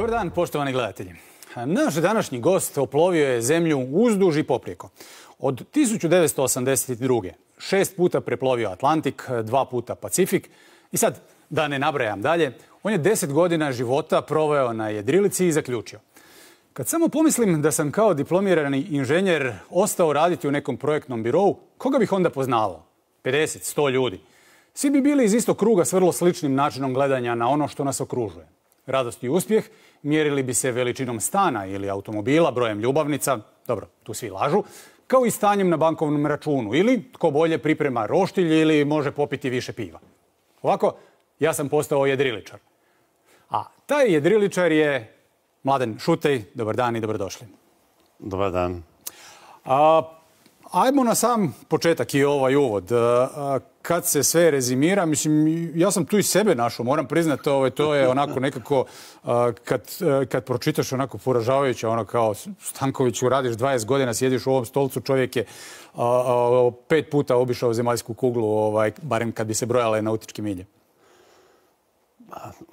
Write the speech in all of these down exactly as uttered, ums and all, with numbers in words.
Dobar dan, poštovani gledatelji. Naš današnji gost oplovio je zemlju uzduž i poprijeko. Od tisuću devetsto osamdeset druge. šest puta preplovio Atlantik, dva puta Pacifik. I sad, da ne nabrajam dalje, on je deset godina života proveo na jedrilici i zaključio. Kad samo pomislim da sam kao diplomirani inženjer ostao raditi u nekom projektnom birovu, koga bih onda poznavao? pedeset, sto ljudi. Svi bi bili iz istog kruga s vrlo sličnim načinom gledanja na ono što nas okružuje. Radost i uspjeh mjerili bi se veličinom stana ili automobila, brojem ljubavnica, dobro, tu svi lažu, kao i stanjem na bankovnom računu ili tko bolje priprema roštilj ili može popiti više piva. Ovako, ja sam postao jedriličar. A taj jedriličar je Mladen Šutej. Dobar dan i dobrodošli. Dobar dan. A, ajmo na sam početak i ovaj uvod. A, kad se sve rezimira, mislim, ja sam tu i sebe našao, moram priznati, ovaj, to je onako nekako, a, kad, a, kad pročitaš onako poražavajuće, ono kao Stankoviću, radiš dvadeset godina, sjediš u ovom stolcu, čovjek je a, a, pet puta obišao zemaljsku kuglu, ovaj, barem kad bi se brojale nautičke milje.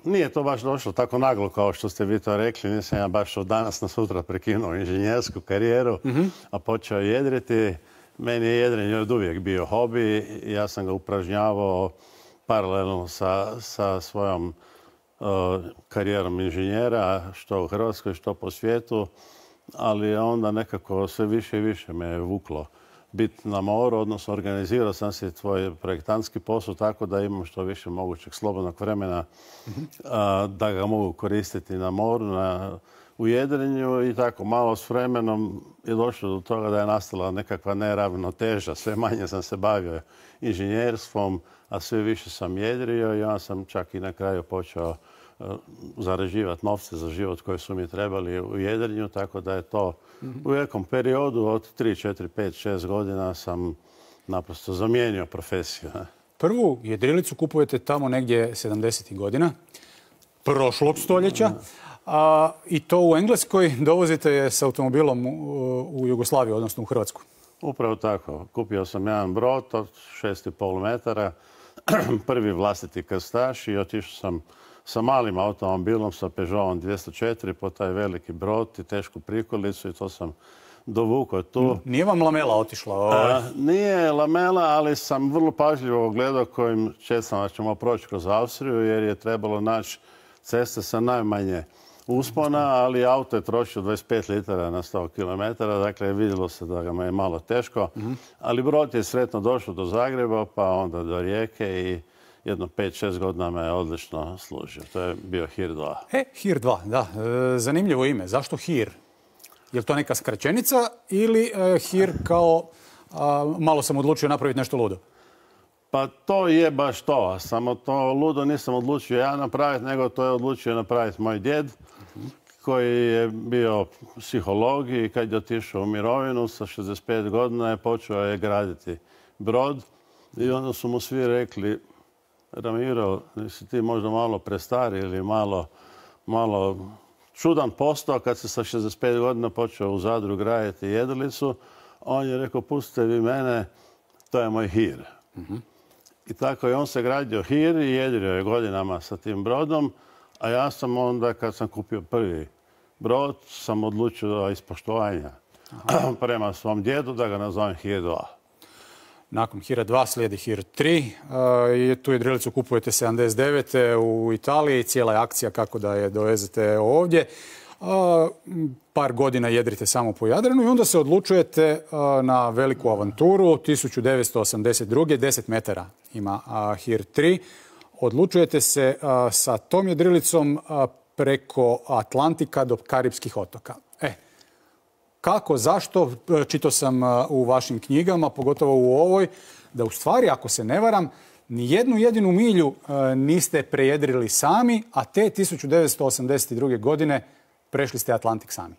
Nije to baš došlo tako naglo kao što ste vi to rekli. Nisam ja baš od danas na sutra prekinuo inženjersku karijeru, mm-hmm. a počeo jedriti. Meni je jedrenje od uvijek bio hobi. Ja sam ga upražnjavao paralelno sa, sa svojom uh, karijerom inženjera, što u Hrvatskoj, što po svijetu. Ali onda nekako sve više i više me je vuklo biti na moru, odnosno organizirao sam se tvoj projektantski posao tako da imam što više mogućeg slobodnog vremena mm-hmm. a, da ga mogu koristiti na moru, na, u jedrenju i tako malo s vremenom je došlo do toga da je nastala nekakva neravnoteža. Sve manje sam se bavio inženjerstvom, a sve više sam jedrio i onda sam čak i na kraju počeo zarađivati novce za život koji su mi trebali u jedrenju, tako da je to mm-hmm. u nekom periodu od tri, četiri, pet, šest godina sam naprosto zamijenio profesiju. Prvu jedrilicu kupujete tamo negdje sedamdesetih godina, prošlog stoljeća, a, i to u Engleskoj dovozite je s automobilom u, u Jugoslaviju, odnosno u Hrvatsku. Upravo tako. Kupio sam jedan brod od šest i pol metara, prvi vlastiti krstaš i otišao sam sa malim automobilom, sa Peugeotom dvjesto četiri, po taj veliki brod i tešku prikolicu i to sam dovukao tu. Nije vam lamela otišla? Ovaj. A, nije lamela, ali sam vrlo pažljivo gledao kojim čestama ćemo proći kroz Austriju, jer je trebalo naći ceste sa najmanje uspona, ali auto je trošio dvadeset pet litara na sto kilometara, dakle vidjelo se da ga je malo teško, mm-hmm. ali brod je sretno došao do Zagreba, pa onda do Rijeke i jedno pet šest godina me je odlično služio. To je bio Hir dva. E, Hir dva, da. E, zanimljivo ime. Zašto Hir? Je li to neka skraćenica ili e, Hir kao a, malo sam odlučio napraviti nešto ludo? Pa to je baš to. Samo to ludo nisam odlučio ja napraviti, nego to je odlučio napraviti moj djed, uh-huh. koji je bio psiholog i kad je otišao u mirovinu sa šezdeset pet godina je počeo je graditi brod i onda su mu svi rekli: Ramiro, nisi ti možda malo prestari ili malo, malo čudan postao kad se sa šezdeset pet godina počeo u Zadru graditi jedrilicu. On je rekao: pustite vi mene, to je moj Hir. Mm-hmm. I tako je on se gradio Hir i jedrio je godinama sa tim brodom, a ja sam onda, kad sam kupio prvi brod, sam odlučio iz poštovanja prema svom djedu da ga nazovem Hir dva. Nakon Hira dva slijedi Hir tri. Uh, tu jedrilicu kupujete sedamdeset devete u Italiji. Cijela je akcija kako da je dovezete ovdje. Uh, par godina jedrite samo po Jadranu i onda se odlučujete uh, na veliku avanturu. tisuću devetsto osamdeset druge. deset metara ima uh, Hir tri. Odlučujete se uh, sa tom jedrilicom uh, preko Atlantika do Karipskih otoka. E, kako, zašto? Čitao sam u vašim knjigama, pogotovo u ovoj, da u stvari, ako se ne varam, ni jednu jedinu milju niste prejedrili sami, a te tisuću devetsto osamdeset druge. godine prešli ste Atlantik sami.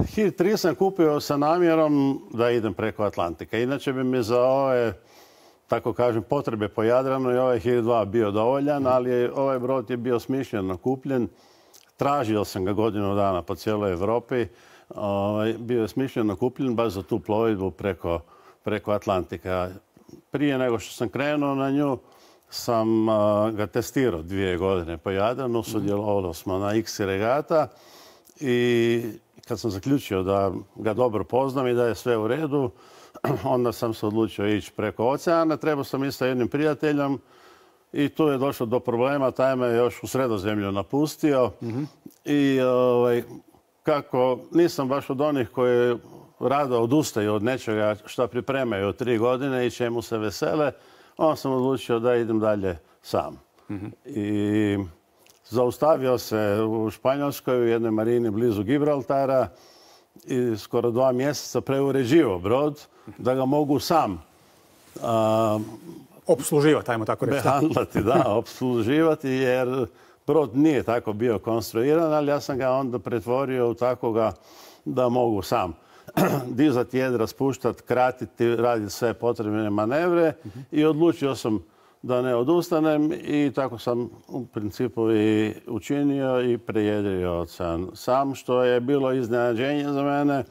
Hir tri sam kupio sa namjerom da idem preko Atlantika. Inače bi mi za ove, tako kažem, potrebe po Jadranu i ovaj Hir dva bio dovoljan, ali ovaj brod je bio smišljeno kupljen. Tražio sam ga godinu dana po cijeloj Europi. Bio je smišljeno kupljen baš za tu plovidbu preko, preko Atlantika. Prije nego što sam krenuo na nju, sam ga testirao dvije godine po Jadranu, sudjelovali smo na X regata i kad sam zaključio da ga dobro poznam i da je sve u redu, onda sam se odlučio ići preko oceana. Trebao sam isto jednim prijateljem i tu je došlo do problema. Taj me još u Sredozemlju napustio. Mm-hmm. I ovaj, kako nisam baš od onih koji rado odustaju od nečega što pripremaju tri godine i čemu se vesele, onda sam odlučio da idem dalje sam. Mm-hmm. I zaustavio se u Španjolskoj u jednoj marini blizu Gibraltara i skoro dva mjeseca preuređivao brod da ga mogu sam a, opsluživati, ajmo tako reći. Behandlati, da, opsluživati, jer brod nije tako bio konstruiran, ali ja sam ga onda pretvorio u takoga da mogu sam dizati jedra, spuštati, kratiti, raditi sve potrebne manevre uh-huh. i odlučio sam da ne odustanem i tako sam u principu i učinio i prejedrio ocean sam, što je bilo iznenađenje za mene,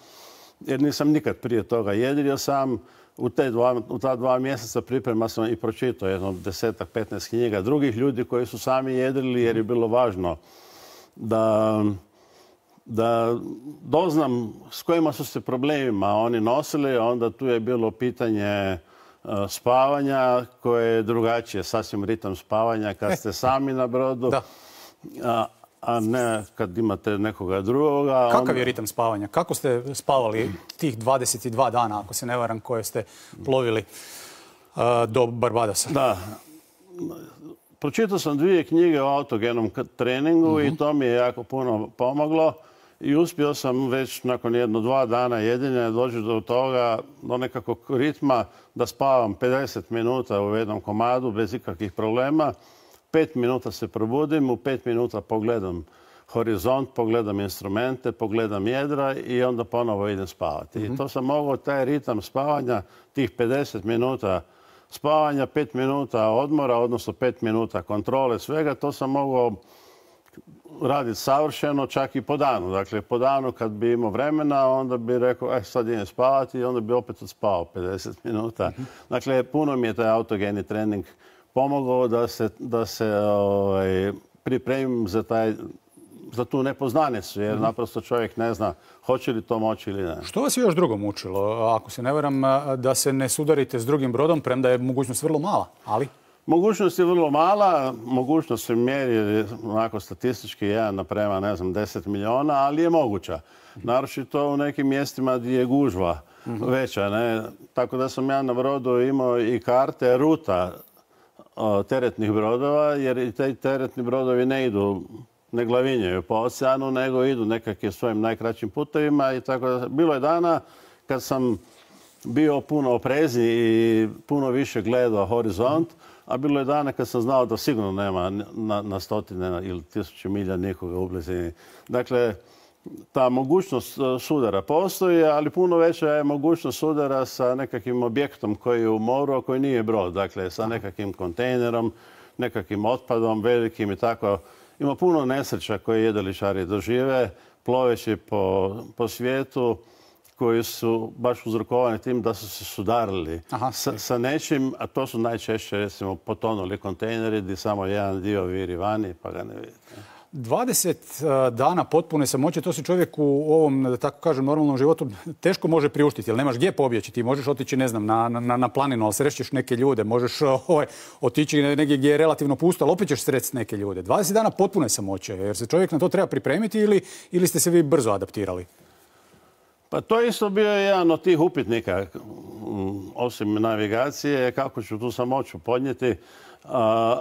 jer nisam nikad prije toga jedrio sam. U, te dva, u ta dva mjeseca priprema sam i pročitao jedno desetak, petnaest knjiga drugih ljudi koji su sami jedrili, jer je bilo važno da, da doznam s kojima su se problemima oni nosili. Onda tu je bilo pitanje spavanja koje je drugačije, sasvim ritam spavanja kad ste sami na brodu, a, a ne kad imate nekoga drugoga. Kakav onda... je ritam spavanja? Kako ste spavali tih dvadeset dva dana, ako se ne varam, koje ste plovili uh, do Barbadosa? Da. Pročitao sam dvije knjige o autogenom treningu uh-huh. i to mi je jako puno pomoglo. I uspio sam već nakon jedno dva dana jedinja doći do toga, do nekakvog ritma da spavam pedeset minuta u jednom komadu bez ikakvih problema. Pet minuta se probudim, u pet minuta pogledam horizont, pogledam instrumente, pogledam jedra i onda ponovo idem spavati. Mm-hmm. I to sam mogao, taj ritam spavanja, tih pedeset minuta spavanja, pet minuta odmora, odnosno pet minuta kontrole svega, to sam mogao raditi savršeno, čak i po danu. Dakle, po danu kad bi imao vremena, onda bi rekao, eh, sad idem spavati i onda bi opet odspavao pedeset minuta. Mm-hmm. Dakle, puno mi je taj autogeni trening pomogao da se, da se ovaj, pripremim za, taj, za tu nepoznanicu, jer mm-hmm. naprosto čovjek ne zna hoće li to moći ili ne. Što vas je još drugo mučilo? Ako se ne varam, da se ne sudarite s drugim brodom, premda je mogućnost vrlo mala, ali... Mogućnost je vrlo mala, mogućnost se mjeri onako statistički jedan naprema, ne znam, deset miliona, ali je moguća. Naročito u nekim mjestima gdje je gužva mm-hmm. veća, ne? Tako da sam ja na brodu imao i karte ruta o, teretnih brodova, jer i te teretni brodovi ne idu, ne glavinjaju po oceanu, nego idu nekakvim svojim najkraćim putevima i tako da bilo je dana kad sam bio puno oprezniji i puno više gledao horizont, a bilo je dana kad sam znao da sigurno nema na, na stotine ili tisuće milja nikoga u blizini. Dakle, ta mogućnost sudara postoji, ali puno veća je mogućnost sudara sa nekakvim objektom koji je u moru, a koji nije brod. Dakle, sa nekakvim kontejnerom, nekakvim otpadom velikim i tako. Ima puno nesreća koje jedriličari dožive, ploveći po, po svijetu, koji su baš uzrokovani tim da su se sudarili Aha, sa, sa nečim, a to su najčešće, recimo, potonuli kontejneri gdje samo jedan dio viri vani, pa ga ne vidite. dvadeset dana potpune samoće, to se čovjek u ovom, da tako kažem, normalnom životu teško može priuštiti, jer nemaš gdje pobjeći. Ti možeš otići, ne znam, na, na, na planinu, ali srećeš neke ljude, možeš ovaj, otići negdje gdje je relativno pusto, ali opet ćeš sresti neke ljude. dvadeset dana potpune samoće, jer se čovjek na to treba pripremiti ili, ili ste se vi brzo adaptirali? Pa to isto bio jedan od tih upitnika, osim navigacije, kako ću tu samoću podnijeti,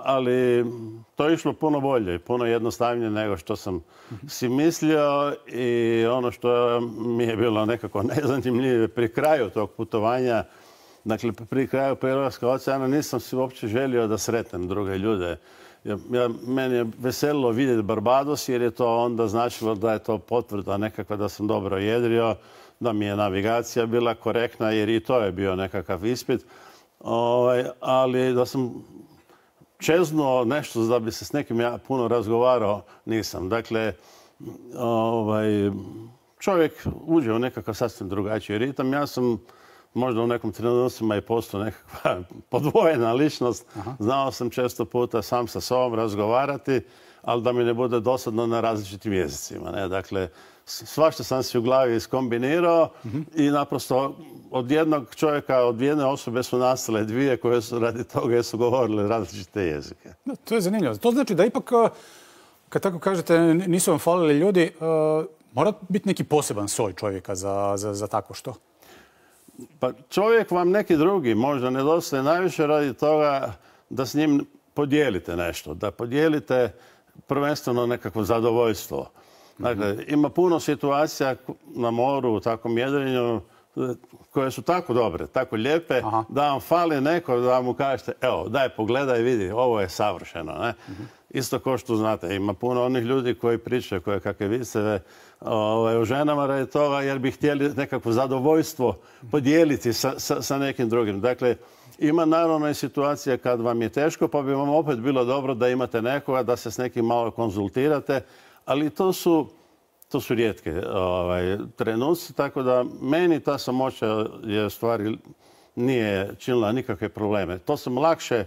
ali to je išlo puno bolje, puno jednostavnije nego što sam si mislio i ono što mi je bilo nekako nezanimljivo pri kraju tog putovanja, dakle pri kraju prelaska oceana, nisam si uopće želio da sretnem druge ljude. Ja, ja, meni je veselilo vidjeti Barbados jer je to onda značilo da je to potvrda nekakva da sam dobro jedrio, da mi je navigacija bila korektna jer i to je bio nekakav ispit. Ovaj, ali da sam čeznuo nešto da bi se s nekim ja puno razgovarao, nisam. Dakle, ovaj, čovjek uđe u nekakav sasvim drugačiji ritam. Ja sam možda u nekom trenucima i postoji nekakva podvojena ličnost. Aha. Znao sam često puta sam sa sobom razgovarati, ali da mi ne bude dosadno na različitim jezicima. Ne? Dakle, svašta sam si u glavi iskombinirao uh-huh. i naprosto od jednog čovjeka, od jedne osobe su nastale dvije koje su radi toga jer su govorile različite jezike. No, to je zanimljivo. To znači da ipak, kad tako kažete, nisu vam falili ljudi, uh, mora biti neki poseban soj čovjeka za, za, za takvo što? Pa čovjek vam neki drugi možda nedostaje najviše radi toga da s njim podijelite nešto, da podijelite prvenstveno nekakvo zadovoljstvo. Dakle, ima puno situacija na moru, u takvom jedrenju, koje su tako dobre, tako lijepe, aha. da vam fali neko da vam mu kažete, evo, daj pogledaj, vidi, ovo je savršeno. Ne? Uh-huh. Isto kao što znate, ima puno onih ljudi koji pričaju koje kakve viceve ovaj, o ženama radi toga, jer bi htjeli nekakvo zadovoljstvo podijeliti sa, sa, sa nekim drugim. Dakle, ima naravno i situacija kad vam je teško, pa bi vam opet bilo dobro da imate nekoga, da se s nekim malo konzultirate, ali to su, to su rijetke ovaj, trenuci, tako da meni ta samoća je stvari nije činila nikakve probleme. To sam lakše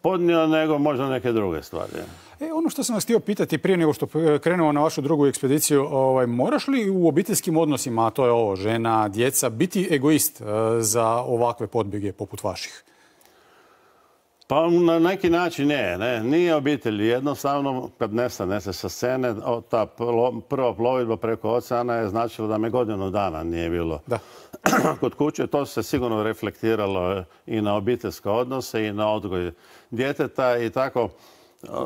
podnio nego možda neke druge stvari. E, ono što sam vas htio pitati prije nego što krenemo na vašu drugu ekspediciju, ovaj, moraš li u obiteljskim odnosima, a to je ovo, žena, djeca, biti egoist uh, za ovakve podbjege poput vaših? Pa na neki način ne, ne. Nije obitelj. Jednostavno, kad nestane se sa scene, ta prva plovidba preko oceana je značilo da me godinu dana nije bilo da. kod kuće. To se sigurno reflektiralo i na obiteljske odnose i na odgoj djeteta i tako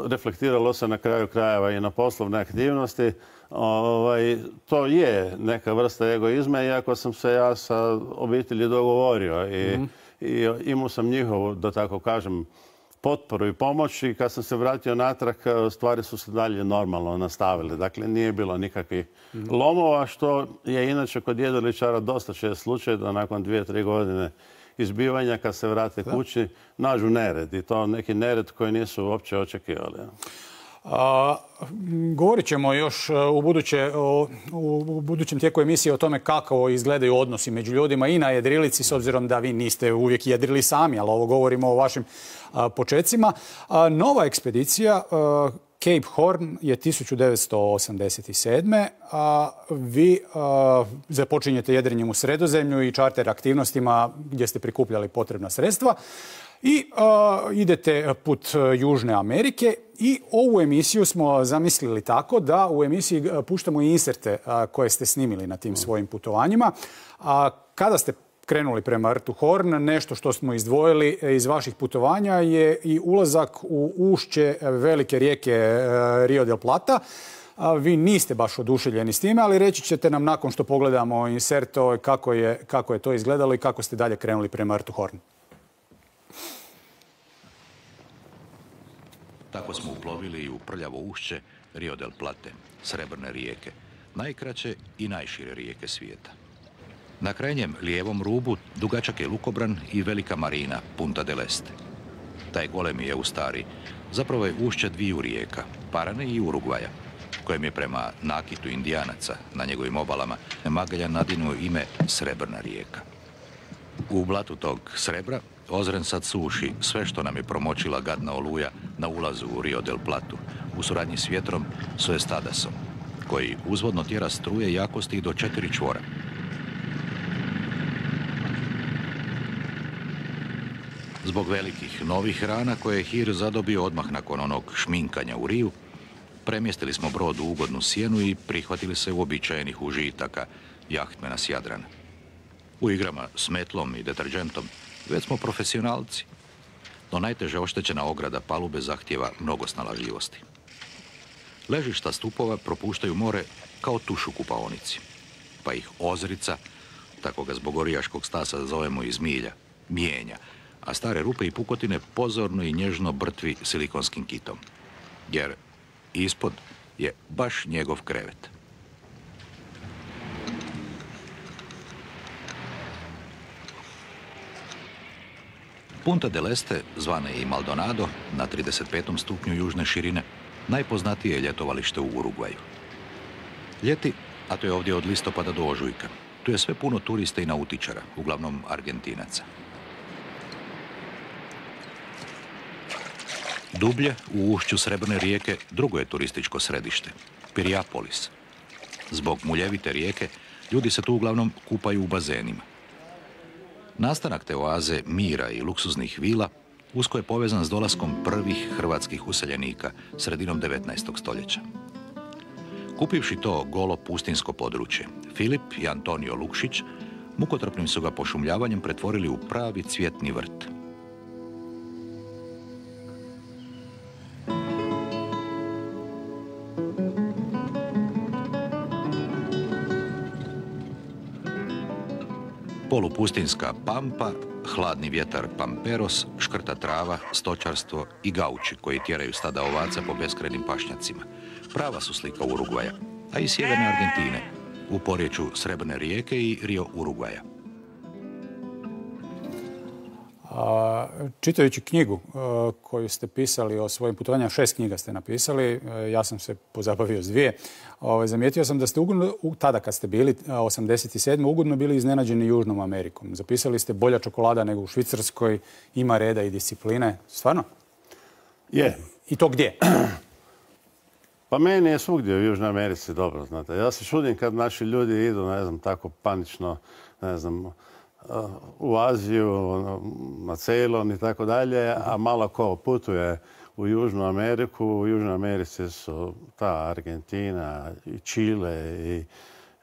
reflektiralo se na kraju krajeva i na poslovne aktivnosti. Ovaj, to je neka vrsta egoizma, iako sam se ja sa obitelji dogovorio i mm-hmm. i imao sam njihovu, da tako kažem, potporu i pomoć i kad sam se vratio natrag, stvari su se dalje normalno nastavile. Dakle, nije bilo nikakvih mm-hmm. lomova, što je inače kod jedriličara dosta čest slučaj da nakon dvije, tri godine izbivanja, kad se vrate da. kući, nađu nered. I to neki nered koji nisu uopće očekivali. A, govorit ćemo još u, buduće, o, u budućem tijeku emisije o tome kako izgledaju odnosi među ljudima i na jedrilici, s obzirom da vi niste uvijek jedrili sami, ali ovo govorimo o vašim a, počecima. A, nova ekspedicija a, Cape Horn je tisuću devetsto osamdeset sedme. A vi a, započinjete jedrenjem u Sredozemlju i čarter aktivnostima gdje ste prikupljali potrebna sredstva. I uh, idete put Južne Amerike i ovu emisiju smo zamislili tako da u emisiji puštamo i inserte uh, koje ste snimili na tim svojim putovanjima. A kada ste krenuli prema rtu Horn, nešto što smo izdvojili iz vaših putovanja je i ulazak u ušće velike rijeke uh, Rio del Plata. A vi niste baš oduševljeni s time, ali reći ćete nam nakon što pogledamo insert kako je, kako je to izgledalo i kako ste dalje krenuli prema rtu Horn. Tako smo uplovili u prljavo ušće Rio del Plate, Srebrne rijeke, najkraće i najšire rijeke svijeta. Na krajnjem lijevom rubu dugačak je lukobran i velika marina Punta del Este. Taj golemi Eustari zapravo je ušće dviju rijeka, Parane i Urugvaja, kojem je prema nakitu Indijanaca na njegovim obalama Magellan nadinuo ime Srebrna rijeka. U blatu tog srebra Ozren sad suši sve što nam je promočila gadna oluja na ulazu u Rio del Platu, u suradnji s vjetrom Soestadasom, koji uzvodno tjera struje jakosti do četiri čvora. Zbog velikih novih rana koje je Hir zadobio odmah nakon onog šminkanja u Riju, premjestili smo brod u ugodnu sjenu i prihvatili se uobičajenih užitaka jahtmena s Jadrana. U igrama s metlom i deterđentom već smo profesionalci, no najteže oštećena ograda palube zahtjeva mnogo snalažljivosti. Ležišta stupova propuštaju more kao tuš u kupaonici, pa ih ozrica, tako ga zbog orijaškog stasa zovemo iz milja, mijenja, a stare rupe i pukotine pozorno i nježno brtvi silikonskim kitom, jer ispod je baš njegov krevet. Punta del Este, zvana i Maldonado, na trideset petom stupnju južne širine, najpoznatije je ljetovalište u Urugvaju. Ljeti, a to je ovdje od listopada do ožujka, Tu je sve puno turista i nautičara, uglavnom Argentinaca. Dublje, u ušću Srebrne rijeke, drugo je turističko središte, Piriápolis. Zbog muljevite rijeke, ljudi se tu uglavnom kupaju u bazenima. Nastanak te oaze mira i luksuznih vila usko je povezan s dolaskom prvih hrvatskih useljenika sredinom devetnaestog stoljeća. Kupivši to golo pustinsko područje, Filip i Antonio Lukšić mukotrpnim su ga pošumljavanjem pretvorili u pravi cvjetni vrt. Polupustinska pampa, hladni vjetar Pamperos, škrta trava, stočarstvo i gauči koji tjeraju stada ovaca po beskrajnim pašnjacima. Prava su slika Urugvaja, a i sjeverne Argentine, u porječju Srebrne rijeke i Rio Urugvaja. A, čitajući knjigu a, koju ste pisali o svojim putovanjima, šest knjiga ste napisali, a, ja sam se pozabavio s dvije, a, zamijetio sam da ste ugodno, tada kad ste bili, osamdeset sedme ugodno bili iznenađeni Južnom Amerikom. Zapisali ste bolja čokolada nego u Švicarskoj, ima reda i discipline. Stvarno? Je. I to gdje? Pa meni je svugdje u Južnoj Americi dobro, znate. Ja se čudim kad naši ljudi idu, ne znam, tako panično, ne znam, u Aziju, na Ceylon i tako dalje, a malo ko putuje u Južnu Ameriku. U Južnoj Americi su ta Argentina i Čile i,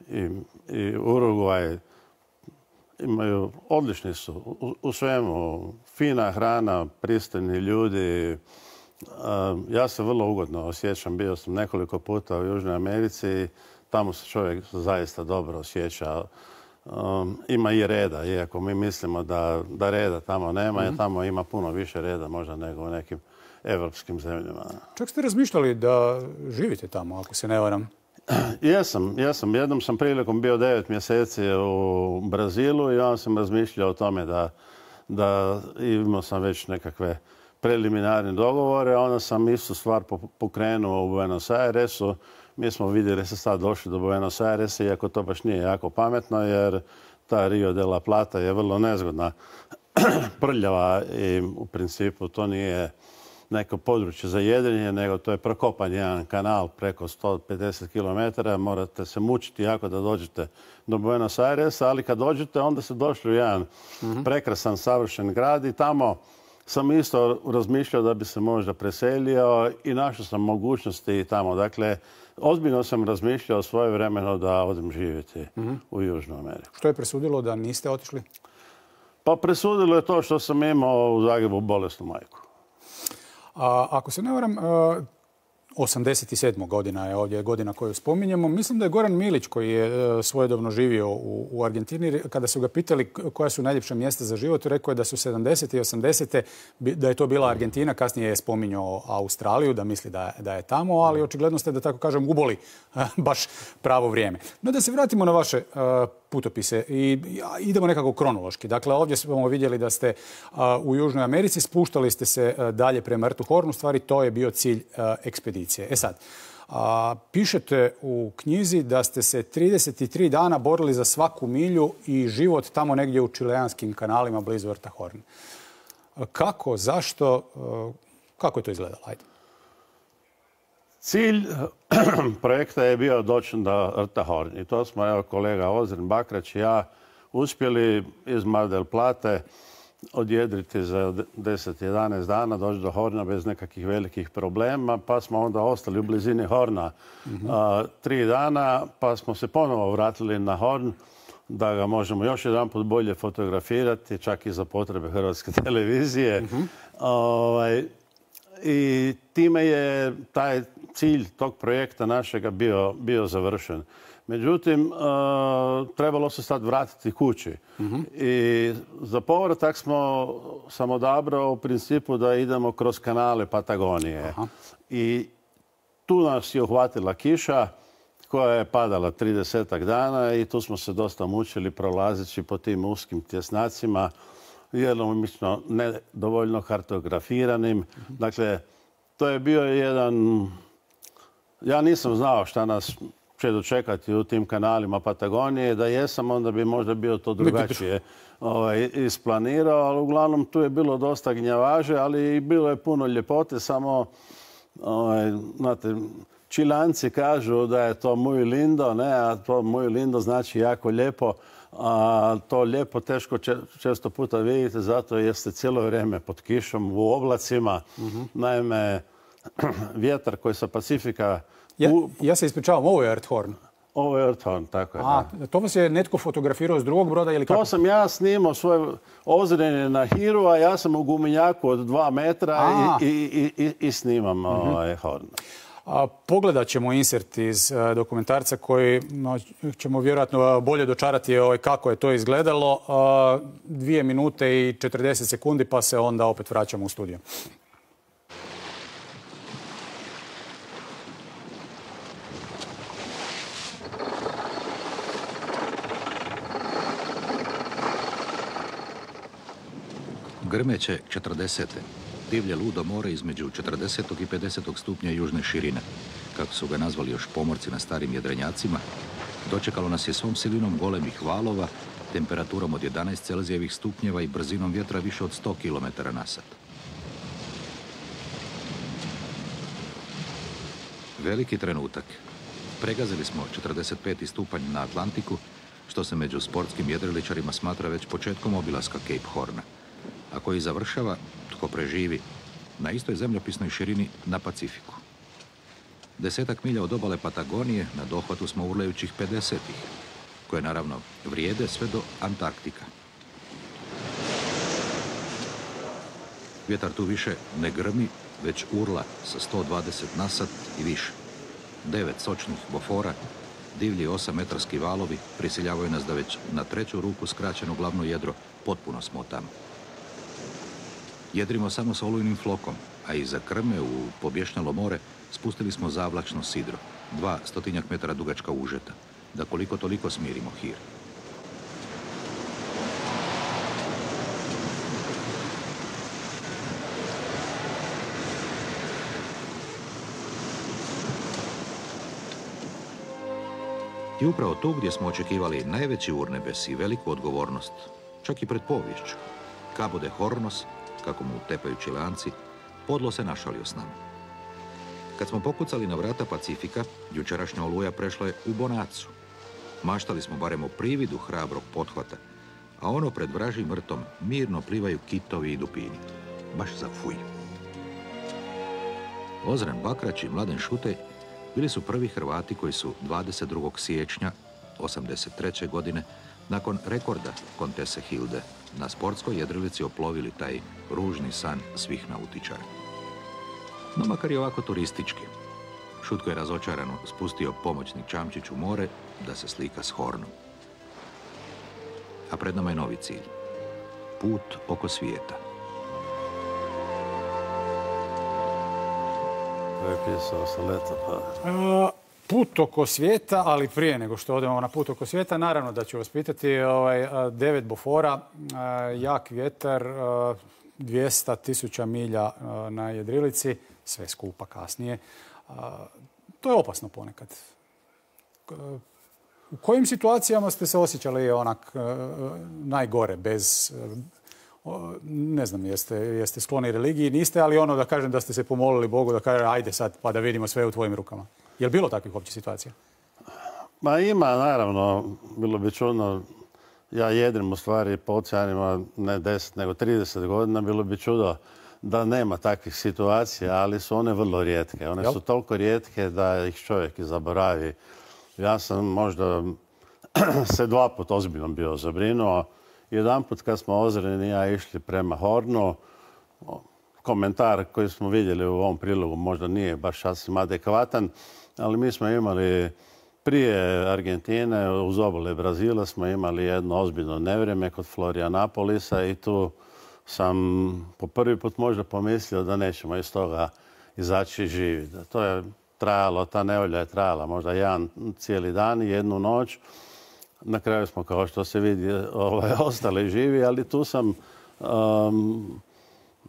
i, i Urugvaj. Imaju, odlični su u, u svemu. Fina hrana, pristojni ljudi. Ja se vrlo ugodno osjećam. Bio sam nekoliko puta u Južnoj Americi i tamo se čovjek zaista dobro osjeća. Um, ima i reda, iako mi mislimo da, da reda tamo nema, mm-hmm. jer tamo ima puno više reda možda nego u nekim evropskim zemljama. Čak ste razmišljali da živite tamo, ako se ne varam? Jesam, jesam. Jednom sam prilikom bio devet mjeseci u Brazilu i onda sam razmišljao o tome da, da imao sam već nekakve preliminarne dogovore. Onda sam istu stvar pokrenuo u Buenos Airesu. Mi smo vidjeli da se sad došli do Buenos Airesa, iako to baš nije jako pametno, jer ta Rio de la Plata je vrlo nezgodna, prljava i u principu to nije neko područje za jedrenje, nego to je prokopan jedan kanal preko sto pedeset kilometara. Morate se mučiti jako da dođete do Buenos Airesa, ali kad dođete onda se došli u jedan mm-hmm. prekrasan, savršen grad i tamo sam isto razmišljao da bi se možda preselio i našao sam mogućnosti tamo. Dakle, ozbiljno sam razmišljao svoje vremeno da odem živjeti mm-hmm. u Južnu Ameriku. Što je presudilo da niste otišli? Pa presudilo je to što sam imao u Zagrebu bolesnu majku. A, ako se ne varam, osamdeset sedma godina je ovdje godina koju spominjemo. Mislim da je Goran Milić, koji je svojedobno živio u, u Argentini, kada su ga pitali koja su najljepša mjesta za život, rekao je da su sedamdesete i osamdesete da je to bila Argentina. Kasnije je spominjao Australiju, da misli da, da je tamo, ali očigledno ste, da tako kažem, uboli baš pravo vrijeme. No da se vratimo na vaše uh, putopise i idemo nekako kronološki. Dakle, ovdje smo vidjeli da ste uh, u Južnoj Americi, spuštali ste se uh, dalje prema rtu Horn. U stvari, to je bio cilj uh, ekspedicije. E sad, a, pišete u knjizi da ste se trideset tri dana borili za svaku milju i život tamo negdje u čileanskim kanalima blizu rta Horn. Kako, zašto, kako je to izgledalo? Ajde. Cilj projekta je bio doći do rta Horn i to smo, evo, kolega Ozren Bakrać i ja uspjeli iz Mar del Plate odjedriti za deset jedanaest dana, doći do Horna bez nekakvih velikih problema, pa smo onda ostali u blizini Horna mm-hmm. a, tri dana, pa smo se ponovo vratili na Horn da ga možemo još jedan put bolje fotografirati, čak i za potrebe Hrvatske televizije. Mm-hmm. Ovaj, i time je taj cilj tog projekta našega bio, bio završen. Međutim, uh, trebalo se sad vratiti kući. Mm-hmm. I za povratak smo sam odabrao u principu da idemo kroz kanale Patagonije. Aha. I tu nas je uhvatila kiša koja je padala tridesetak dana i tu smo se dosta mučili prolazeći po tim uskim tjesnacima, djelomično nedovoljno kartografiranim. Mm-hmm. Dakle, to je bio jedan... Ja nisam znao šta nas će dočekati u tim kanalima Patagonije. Da jesam, onda bi možda bio to drugačije ovaj, isplanirao, ali uglavnom tu je bilo dosta gnjavaže, ali i bilo je puno ljepote, samo ovaj, znate, Čilanci kažu da je to muy lindo, ne, a to muy lindo znači jako lijepo, a to lijepo teško često puta vidite, zato jeste cijelo vrijeme pod kišom, u oblacima. Mm-hmm. Naime, vjetar koji sa Pacifika... Ja, ja se ispričavam, ovo je Earthhorn. Ovo je Earthhorn, tako je. A, da. To vas je netko fotografirao s drugog broda ili kako? To sam ja snimao svoje ozrenje na Hiru, a ja sam u gumenjaku od dva metra i, i, i, i snimam mm-hmm. ovaj Horn. A, pogledat ćemo insert iz a, dokumentarca koji no, ćemo vjerojatno bolje dočarati ovaj, kako je to izgledalo. A, dvije minute i četrdeset sekundi pa se onda opet vraćamo u studio. Grmeće četrdesete. Divlje ludo more između četrdesetog i pedesetog stupnja južne širine, kako su ga nazvali još pomorci na starim jedrenjacima, dočekalo nas je svom silinom golemih valova, temperaturom od jedanaest Celzijevih stupnjeva i brzinom vjetra više od sto kilometara na sat. Veliki trenutak. Pregazili smo četrdeset peti stupanj na Atlantiku, što se među sportskim jedriličarima smatra već početkom obilaska Cape Horna, a koji završava, tko preživi, na istoj zemljopisnoj širini na Pacifiku. Desetak milja od obale Patagonije na dohvatu smo urlajućih pedesetih, koje naravno vrijede sve do Antarktika. Vjetar tu više ne grmi, već urla sa sto dvadeset na sat i više. Devet sočnih bofora, divlji osametarski valovi prisiljavaju nas da već na treću ruku skraćeno glavno jedro potpuno smo tamo. Jedrimo samo s olujnim flokom, a iza krme u pobješnjalo more spustili smo zavlačno sidro, dva stotinjak metara dugačka užeta, da koliko toliko smirimo Hir. I upravo tu gdje smo očekivali najveći urnebes i veliku odgovornost, čak i pred poviješću, Cabo de Hornos, kako mu tepaju Čilanci, podlo se našalio s nama. Kad smo pokucali na vrata Pacifika, jučerašnja oluja prešla je u bonacu. Maštali smo barem o prividu hrabrog pothvata, a ono pred vražim vrtom mirno plivaju kitovi i dupini. Baš za fuj. Ozren Bakrać i Mladen Šutej bili su prvi Hrvati koji su dvadeset drugog siječnja osamdeset treće godine nakon rekorda Kontese Hilde na sportskoj jedrilici oplovili taj ružni san svih nautičara. No makar i ovako turistički, Šutko je razočarano spustio pomoćni čamčić u more da se slika s Hornom. A pred nama je novi cilj. Put oko svijeta. Prepisao sam leto, pa... Uh, put oko svijeta, ali prije nego što odemo na put oko svijeta, naravno da ću vas pitati, ovaj, devet bofora, uh, jak vjetar, uh, dvjesto tisuća milja uh, na jedrilici, sve skupa kasnije. Uh, to je opasno ponekad. Uh, u kojim situacijama ste se osjećali onak uh, najgore, bez... Uh, ne znam, jeste, jeste skloni religiji, niste, ali ono da kažem da ste se pomolili Bogu, da kaže ajde sad pa da vidimo sve u tvojim rukama. Je li bilo takvih uopće situacija? Ma ima, naravno. Bilo bi čudno. Ja jedrim u stvari po oceanima ne deset nego trideset godina. Bilo bi čudo da nema takvih situacija, ali su one vrlo rijetke. One su toliko rijetke da ih čovjek i zaboravi. Ja sam možda se dva put ozbiljno bio zabrinuo. Jedan put kad smo Ozren i ja išli prema Hornu, komentar koji smo vidjeli u ovom prilogu možda nije baš sasvim adekvatan, ali mi smo imali prije Argentine, uz obale Brazila smo imali jedno ozbiljno nevrijeme kod Florianapolisa i tu sam po prvi put možda pomislio da nećemo iz toga izaći živi. To je trajalo, ta nevolja je trajala možda jedan cijeli dan i jednu noć. Na kraju smo, kao što se vidi, ovaj, ostali živi, ali tu sam um,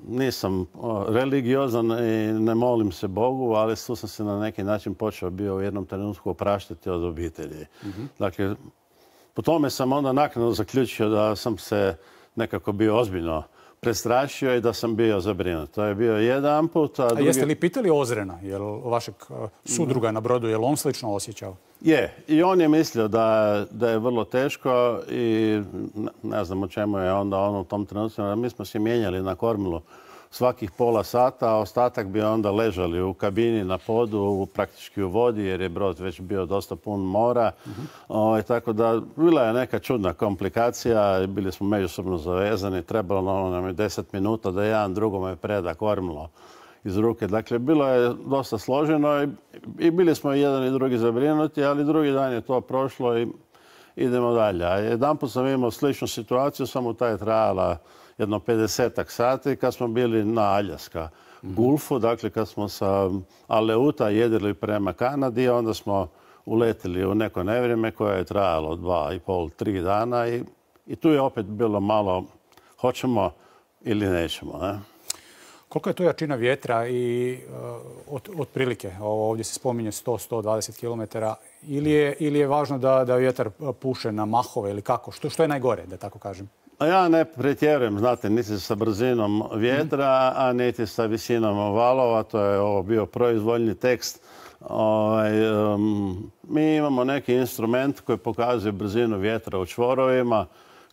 nisam religiozan i ne molim se Bogu, ali tu sam se na neki način počeo bio u jednom trenutku opraštati od obitelji. Mm-hmm. Dakle, po tome sam onda naknadno zaključio da sam se nekako bio ozbiljno prestrašio i da sam bio zabrinut. To je bio jedan put. A, a drugi... jeste li pitali Ozrena, jel vašeg sudruga na brodu, je li on slično osjećao? Je. I on je mislio da, da je vrlo teško i ne znam o čemu je onda on u tom trenutku. Mi smo se mijenjali na kormilu svakih pola sata, a ostatak bi onda ležali u kabini na podu, praktički u vodi, jer je brod već bio dosta pun mora. Mm-hmm. O, tako da bila je neka čudna komplikacija, bili smo međusobno zavezani, trebalo nam je deset minuta da jedan drugome preda kormilo iz ruke. Dakle, bilo je dosta složeno i, i bili smo jedan i drugi zabrinuti, ali drugi dan je to prošlo i idemo dalje. A jedanput sam imao sličnu situaciju, samo ta je trajala jedno pedesetak sati kad smo bili na Aljaska Gulfu, dakle kad smo sa Aleuta jedili prema Kanadi, onda smo uletili u neko nevrijeme koje je trajalo dva i pol, tri dana i, i tu je opet bilo malo hoćemo ili nećemo. Ne? Koliko je to jačina vjetra i uh, od, otprilike, ovdje se spominje sto do sto dvadeset kilometara, ili je, ili je važno da, da vjetar puše na mahove ili kako? Što, što je najgore, da tako kažem? A ja ne pretjerujem, znate, niti sa brzinom vjetra, a niti sa visinom valova. To je ovo bio proizvoljni tekst. Ovaj, um, mi imamo neki instrument koji pokazuje brzinu vjetra u čvorovima.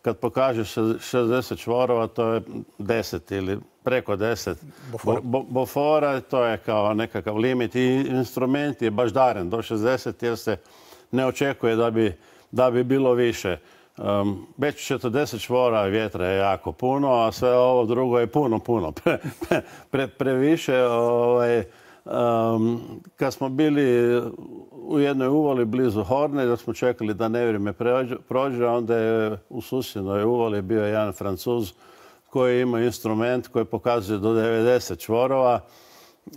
Kad pokaže šezdeset čvorova, to je deset ili preko deset bofora. Bo, bofora. To je kao nekakav limit i instrument je baždaren do šezdeset jer se ne očekuje da bi, da bi bilo više. Um, već četrdeset čvora vjetra je jako puno, a sve ovo drugo je puno, puno pre, pre, pre, previše. Ovaj, um, kad smo bili u jednoj uvali blizu Horne, da smo čekali da nevrijeme prođe, onda je u susjednoj uvali bio jedan Francuz koji ima instrument koji pokazuje do devedeset čvorova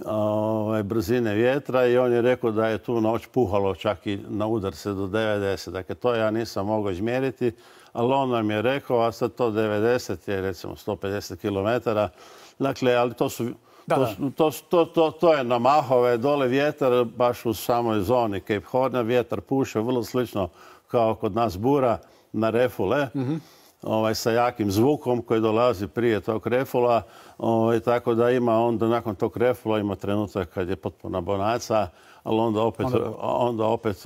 ovaj, brzine vjetra i on je rekao da je tu noć puhalo čak i na udarce do devedeset. Dakle, to ja nisam mogao izmjeriti, ali on nam je rekao, a sad to devedeset je recimo sto pedeset kilometara. Dakle, ali to su... Da, to, da. To, to, to, to je na mahove, dole vjetar, baš u samoj zoni Cape Horna, vjetar puše vrlo slično kao kod nas bura na refule. Mm-hmm. Ovaj, sa jakim zvukom koji dolazi prije tog refula. Ovaj, tako da ima onda nakon tog refula ima trenutak kad je potpuna bonaca, ali onda opet, onda, onda opet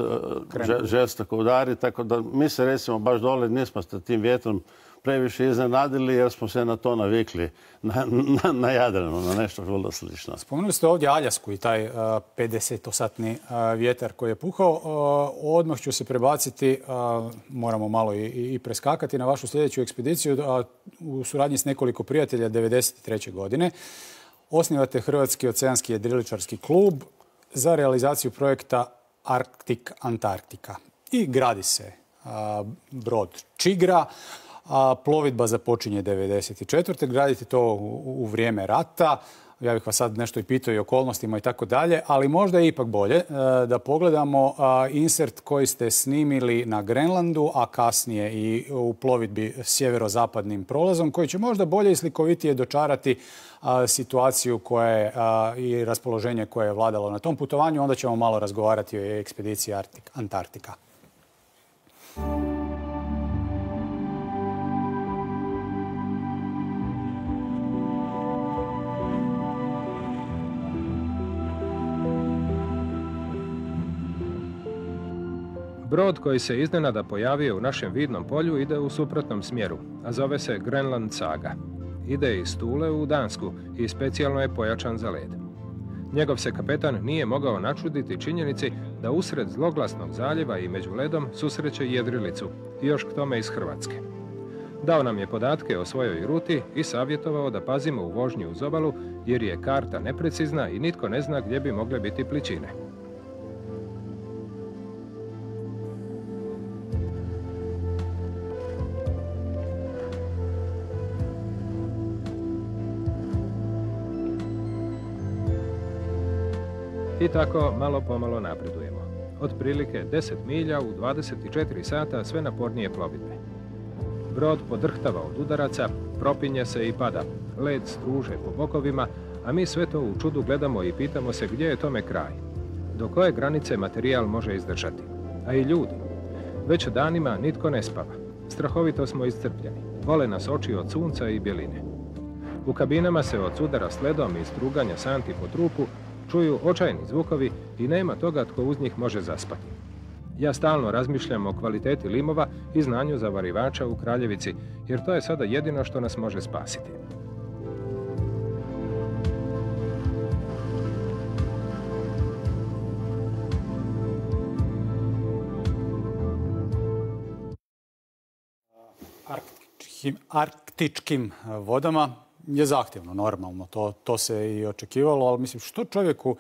žestoko udari. Tako da mi se recimo baš dole nismo s tim vjetrom previše iznenadili jer smo se na to navikli, na, na, na Jadranu, na nešto vrlo slično. Spomenuli ste ovdje Aljasku i taj uh, pedesetosatni uh, vjetar koji je puhao. Uh, odmah ću se prebaciti, uh, moramo malo i, i preskakati na vašu sljedeću ekspediciju. Uh, u suradnji s nekoliko prijatelja devedeset treće godine osnivate Hrvatski oceanski jedriličarski klub za realizaciju projekta Arktik Antarktika. I gradi se uh, brod Čigra. A plovidba započinje devedeset četvrte Gradite to u, u vrijeme rata. Ja bih vas sad nešto i pitao i okolnostima i tako dalje, ali možda je ipak bolje e, da pogledamo a, insert koji ste snimili na Grenlandu, a kasnije i u plovidbi sjeverozapadnim prolazom, koji će možda bolje i slikovitije dočarati a, situaciju koja je, a, i raspoloženje koje je vladalo na tom putovanju. Onda ćemo malo razgovarati o ekspediciji Arktik, Antarktika. Brod koji se iznenada pojavio u našem vidnom polju ide u suprotnom smjeru, a zove se Grenland Saga. Ide iz Tule u Dansku i specijalno je pojačan za led. Njegov se kapetan nije mogao načuditi činjenici da usred zloglasnog zaljeva i među ledom susreće jedrilicu, i još k tome iz Hrvatske. Dao nam je podatke o svojoj ruti i savjetovao da pazimo u vožnji uz obalu, jer je karta neprecizna i nitko ne zna gdje bi mogle biti pličine. I tako malo pomalo napredujemo. Otprilike deset milja u dvadeset četiri sata sve napornije plovidbe. Brod podrhtava od udaraca, propinje se i pada. Led struže po bokovima, a mi sve to u čudu gledamo i pitamo se gdje je tome kraj. Do koje granice materijal može izdržati. A i ljudi. Već danima nitko ne spava. Strahovito smo iscrpljeni. Bole nas oči od sunca i bjeline. U kabinama se od sudara s ledom i struganja santi po trupu čuju očajni zvukovi i nema toga tko uz njih može zaspati. Ja stalno razmišljam o kvaliteti limova i znanju zavarivača u Kraljevici, jer to je sada jedino što nas može spasiti. Arktičkim, arktičkim vodama je zahtjevno, normalno. To, to se i očekivalo, ali mislim, što čovjeku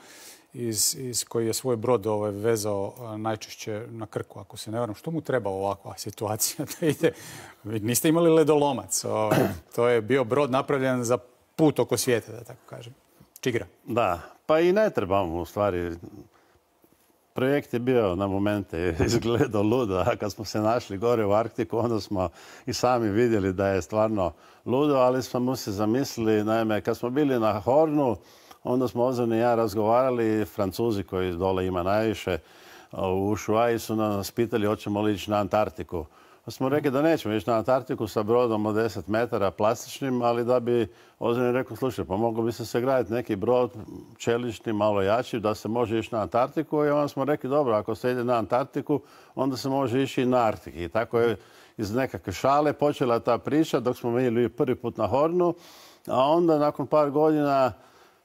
iz, iz koji je svoj brod ovaj, vezao najčešće na Krku, ako se ne varam, što mu treba ovakva situacija da ide? Vi niste imali ledolomac. Ovaj, to je bio brod napravljen za put oko svijeta, da tako kažem. Čigra. Da, pa i ne trebamo u stvari. Projekt je bio na momente izgledao ludo, a kad smo se našli gore u Arktiku, onda smo i sami vidjeli da je stvarno ludo, ali smo se zamislili, naime, kad smo bili na Hornu, onda smo Ozan i ja razgovarali, Francuzi koji dole ima najviše, u Ushuaii su nas pitali hoćemo li ići na Antarktiku. Pa smo rekli da nećemo ići na Antarktiku sa brodom od deset metara plastičnim, ali da bi Ozan rekao, slušaj, pa moglo bi se sagraditi neki brod čelični, malo jači, da se može ići na Antarktiku. I onda smo rekli, dobro, ako se ide na Antarktiku, onda se može ići i na Arktiki. I tako je iz nekakve šale počela ta priča dok smo bili prvi put na Hornu. A onda, nakon par godina,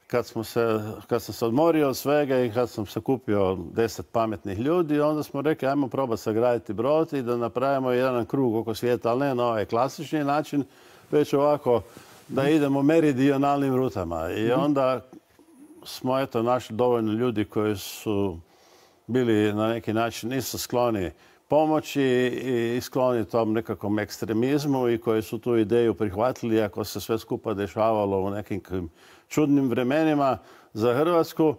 kad, smo se, kad sam se odmorio od svega i kad sam se kupio deset pametnih ljudi, onda smo rekli ajmo probati sagraditi brod i da napravimo jedan krug oko svijeta, ali ne na ovaj klasični način, već ovako da idemo meridionalnim rutama. I onda smo eto našli dovoljno ljudi koji su bili na neki način nisu skloni pomoći i skloni tom nekakvom ekstremizmu i koji su tu ideju prihvatili ako se sve skupa dešavalo u nekim čudnim vremenima za Hrvatsku.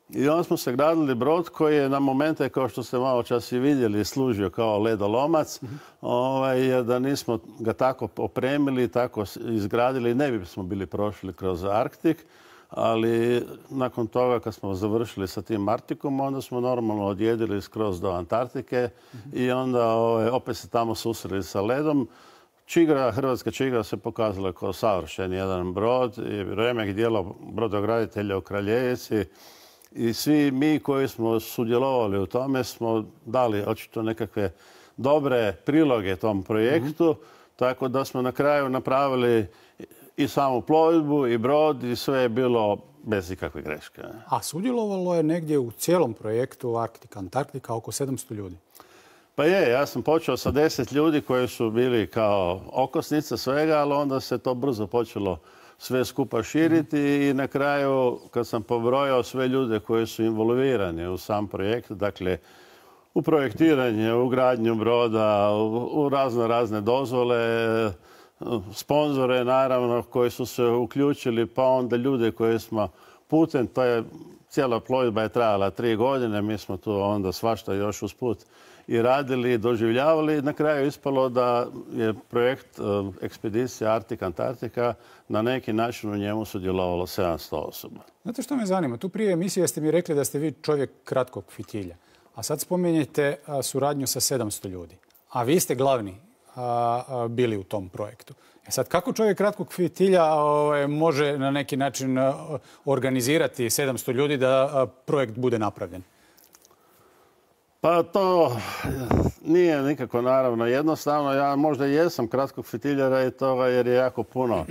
I onda smo se gradili brod koji je na momente, kao što ste malo čas i vidjeli, služio kao ledolomac. Mm-hmm. ovaj, da nismo ga tako opremili, tako izgradili, ne bismo bili prošli kroz Arktik. Ali nakon toga, kad smo završili sa tim Arktikom, onda smo normalno odjedili skroz do Antarktike mm-hmm. i onda ovaj, opet se tamo susreli sa ledom. Čigra, hrvatska čigra se pokazala kao savršen jedan brod i remek dijelo brodograditelja u Kraljevici. I svi mi koji smo sudjelovali u tome smo dali očito nekakve dobre priloge tom projektu, mm-hmm. tako da smo na kraju napravili i samu plovidbu i brod i sve je bilo bez ikakve greške. A sudjelovalo je negdje u cijelom projektu Arktika, Antarktika oko sedamsto ljudi. Pa je, ja sam počeo sa deset ljudi koji su bili kao okosnica svega, ali onda se to brzo počelo sve skupa širiti i na kraju kad sam pobrojao sve ljude koji su involvirani u sam projekt, dakle u projektiranje, u gradnju broda, u razno razne dozvole, sponzore naravno koji su se uključili, pa onda ljude koje smo putem, to je cijela plovidba je trajala tri godine, mi smo tu onda svašta još usput i radili i doživljavali. Na kraju ispalo da je projekt ekspedicija Arktika-Antarktika na neki način u njemu sudjelovalo sedamsto osoba. Znate što me zanima? Tu prije emisije ste mi rekli da ste vi čovjek kratkog fitilja, a sad spominjete suradnju sa sedamsto ljudi. A vi ste glavni a, a, bili u tom projektu. E sad, kako čovjek kratkog fitilja a, može na neki način a, organizirati sedamsto ljudi da a, projekt bude napravljen? Pa to nije nikako naravno jednostavno. Ja možda jesam kratkog fitiljara i toga jer je jako puno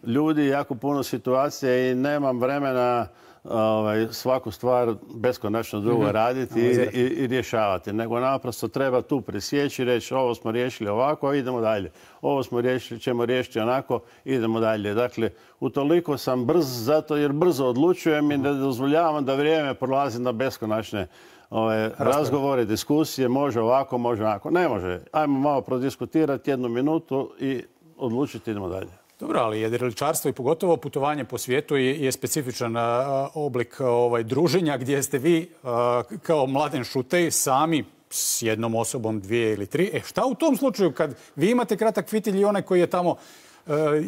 ljudi, jako puno situacija i nemam vremena ovaj, svaku stvar beskonačno drugo mm-hmm. raditi i, i, i rješavati. Nego naprosto treba tu presjeći i reći ovo smo riješili ovako, idemo dalje. Ovo smo riješili, ćemo riješiti onako, idemo dalje. Dakle, utoliko sam brz zato jer brzo odlučujem i ne dozvoljavam da vrijeme prolazi na beskonačne Ove, razgovore, diskusije, može ovako, može onako. Ne može. Ajmo malo prodiskutirati jednu minutu i odlučiti, idemo dalje. Dobro, ali jedriličarstvo i pogotovo putovanje po svijetu je, je specifičan a, oblik ovaj, druženja gdje ste vi a, kao Mladen Šutej sami s jednom osobom, dvije ili tri. E šta u tom slučaju kad vi imate kratak fitilj i onaj koji je tamo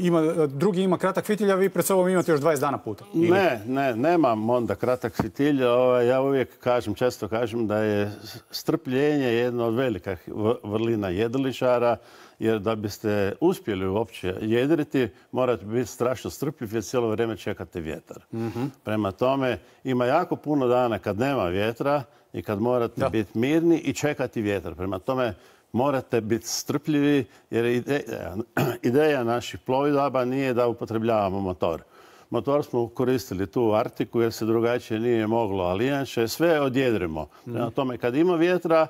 ima, drugi ima kratak fitilj, a vi pred sobom imate još dvadeset dana puta? Ili? Ne, ne, nemam onda kratak fitilj. Ja uvijek kažem, često kažem da je strpljenje jedna od velikih vrlina jedriličara, jer da biste uspjeli uopće jedriti, morate biti strašno strpljiv jer cijelo vrijeme čekate vjetar. Mm-hmm. Prema tome, ima jako puno dana kad nema vjetra i kad morate da. biti mirni i čekati vjetar. Prema tome, morate biti strpljivi jer ideja, ideja naših plovidaba nije da upotrebljavamo motor. Motor smo koristili tu u Artiku jer se drugačije nije moglo, ali inače sve odjedrimo. Prema tome, kad ima vjetra,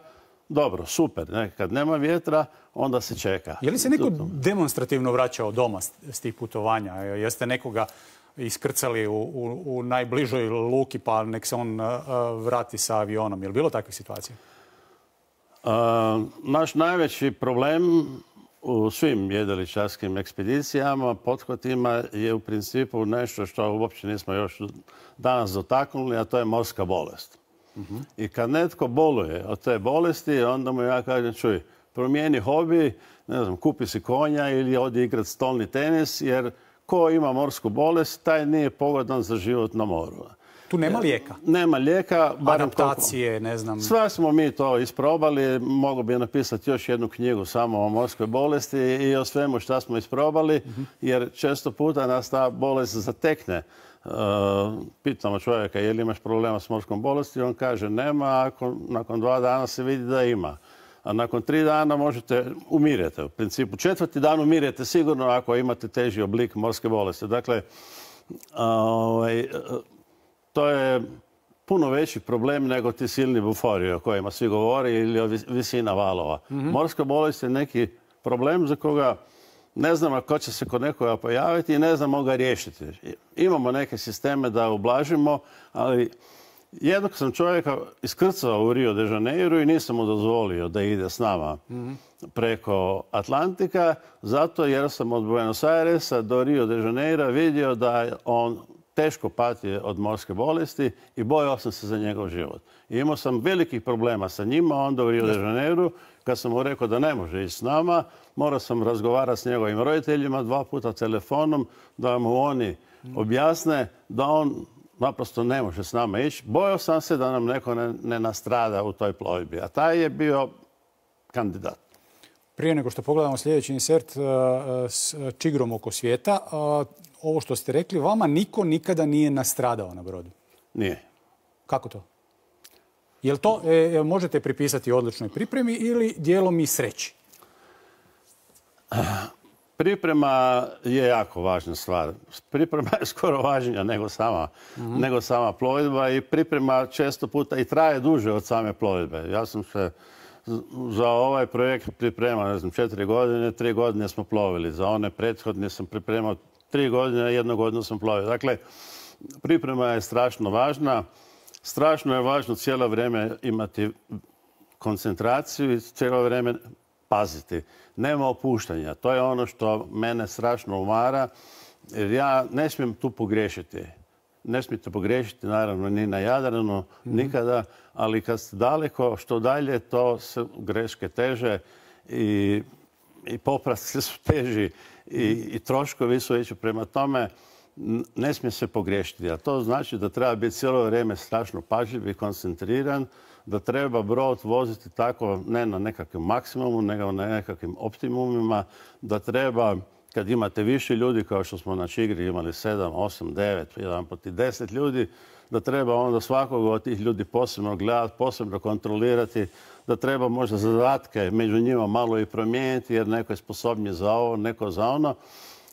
dobro, super. Ne? Kad nema vjetra, onda se čeka. Je li se neko demonstrativno vraćao doma s tih putovanja? Jeste nekoga iskrcali u, u, u najbližoj luki pa nek se on uh, vrati sa avionom? Je li bilo takvih situacija? Uh, naš najveći problem u svim jedriličarskim ekspedicijama, pothvatima je u principu nešto što uopće nismo još danas dotaknuli, a to je morska bolest. Uh-huh. I kad netko boluje od te bolesti, onda mu ja kažem, čuj, promijeni hobi, ne znam, kupi si konja ili odi igrati stolni tenis, jer ko ima morsku bolest, taj nije pogodan za život na moru. Tu nema lijeka? Nema lijeka. Adaptacije, ne znam. Sve smo mi to isprobali. Mogu bi napisati još jednu knjigu samo o morskoj bolesti i o svemu što smo isprobali, uh-huh. jer često puta nas ta bolest zatekne. Uh, pitamo čovjeka je li imaš problema s morskom bolesti, on kaže nema, a nakon dva dana se vidi da ima. A nakon tri dana možete umirete. U principu četvrti dan umirete sigurno ako imate teži oblik morske bolesti. Dakle, ovaj, to je puno veći problem nego ti silni bufori o kojima svi govori ili o visina valova. Mm-hmm. Morska bolest je neki problem za koga ne znamo ko će se kod nekoga pojaviti i ne znamo ga riješiti. Imamo neke sisteme da ublažimo, ali jednog sam čovjeka iskrcao u Rio de Janeiro i nisam mu dozvolio da ide s nama mm-hmm. preko Atlantika, zato jer sam od Buenos Airesa do Rio de Janeiro vidio da on teško pati od morske bolesti i bojao sam se za njegov život. I imao sam velikih problema sa njima, onda u Rio de Janeiro, kad sam mu rekao da ne može ići s nama, morao sam razgovarati s njegovim roditeljima dva puta telefonom, da mu oni objasne da on naprosto ne može s nama ići. Bojao sam se da nam neko ne, ne nastrada u toj plovidbi, a taj je bio kandidat. Prije nego što pogledamo sljedeći insert s čigrom oko svijeta, ovo što ste rekli, vama niko nikada nije nastradao na brodu? Nije. Kako to? Jel to e, možete pripisati odličnoj pripremi ili dijelom i sreći? Priprema je jako važna stvar. Priprema je skoro važnija nego sama, mm-hmm. nego sama plovidba i priprema često puta i traje duže od same plovidbe. Ja sam se za ovaj projekt pripremao, ne znam, četiri godine, tri godine smo plovili. Za one prethodne sam pripremao tri godine, jednu godinu sam plovio. Dakle, priprema je strašno važna. Strašno je važno cijelo vrijeme imati koncentraciju i cijelo vrijeme paziti. Nema opuštanja. To je ono što mene strašno umara, jer ja ne smijem tu pogriješiti. Ne smijete pogriješiti, naravno, ni na Jadranu, mm-hmm. nikada, ali kad ste daleko, što dalje, to se greške teže i, i popravci su teži i, i troškovi su veći. Prema tome, ne smije se pogriješiti. A to znači da treba biti cijelo vrijeme strašno pažljiv i koncentriran, da treba brod voziti tako ne na nekakvom maksimumu, nego na nekakvim optimumima, da treba, kad imate više ljudi, kao što smo na Čigri imali sedam, osam, devet, jedan put i deset ljudi, da treba onda svakog od tih ljudi posebno gledati, posebno kontrolirati, da treba možda zadatke među njima malo i promijeniti, jer neko je sposobniji za ovo, neko za ono.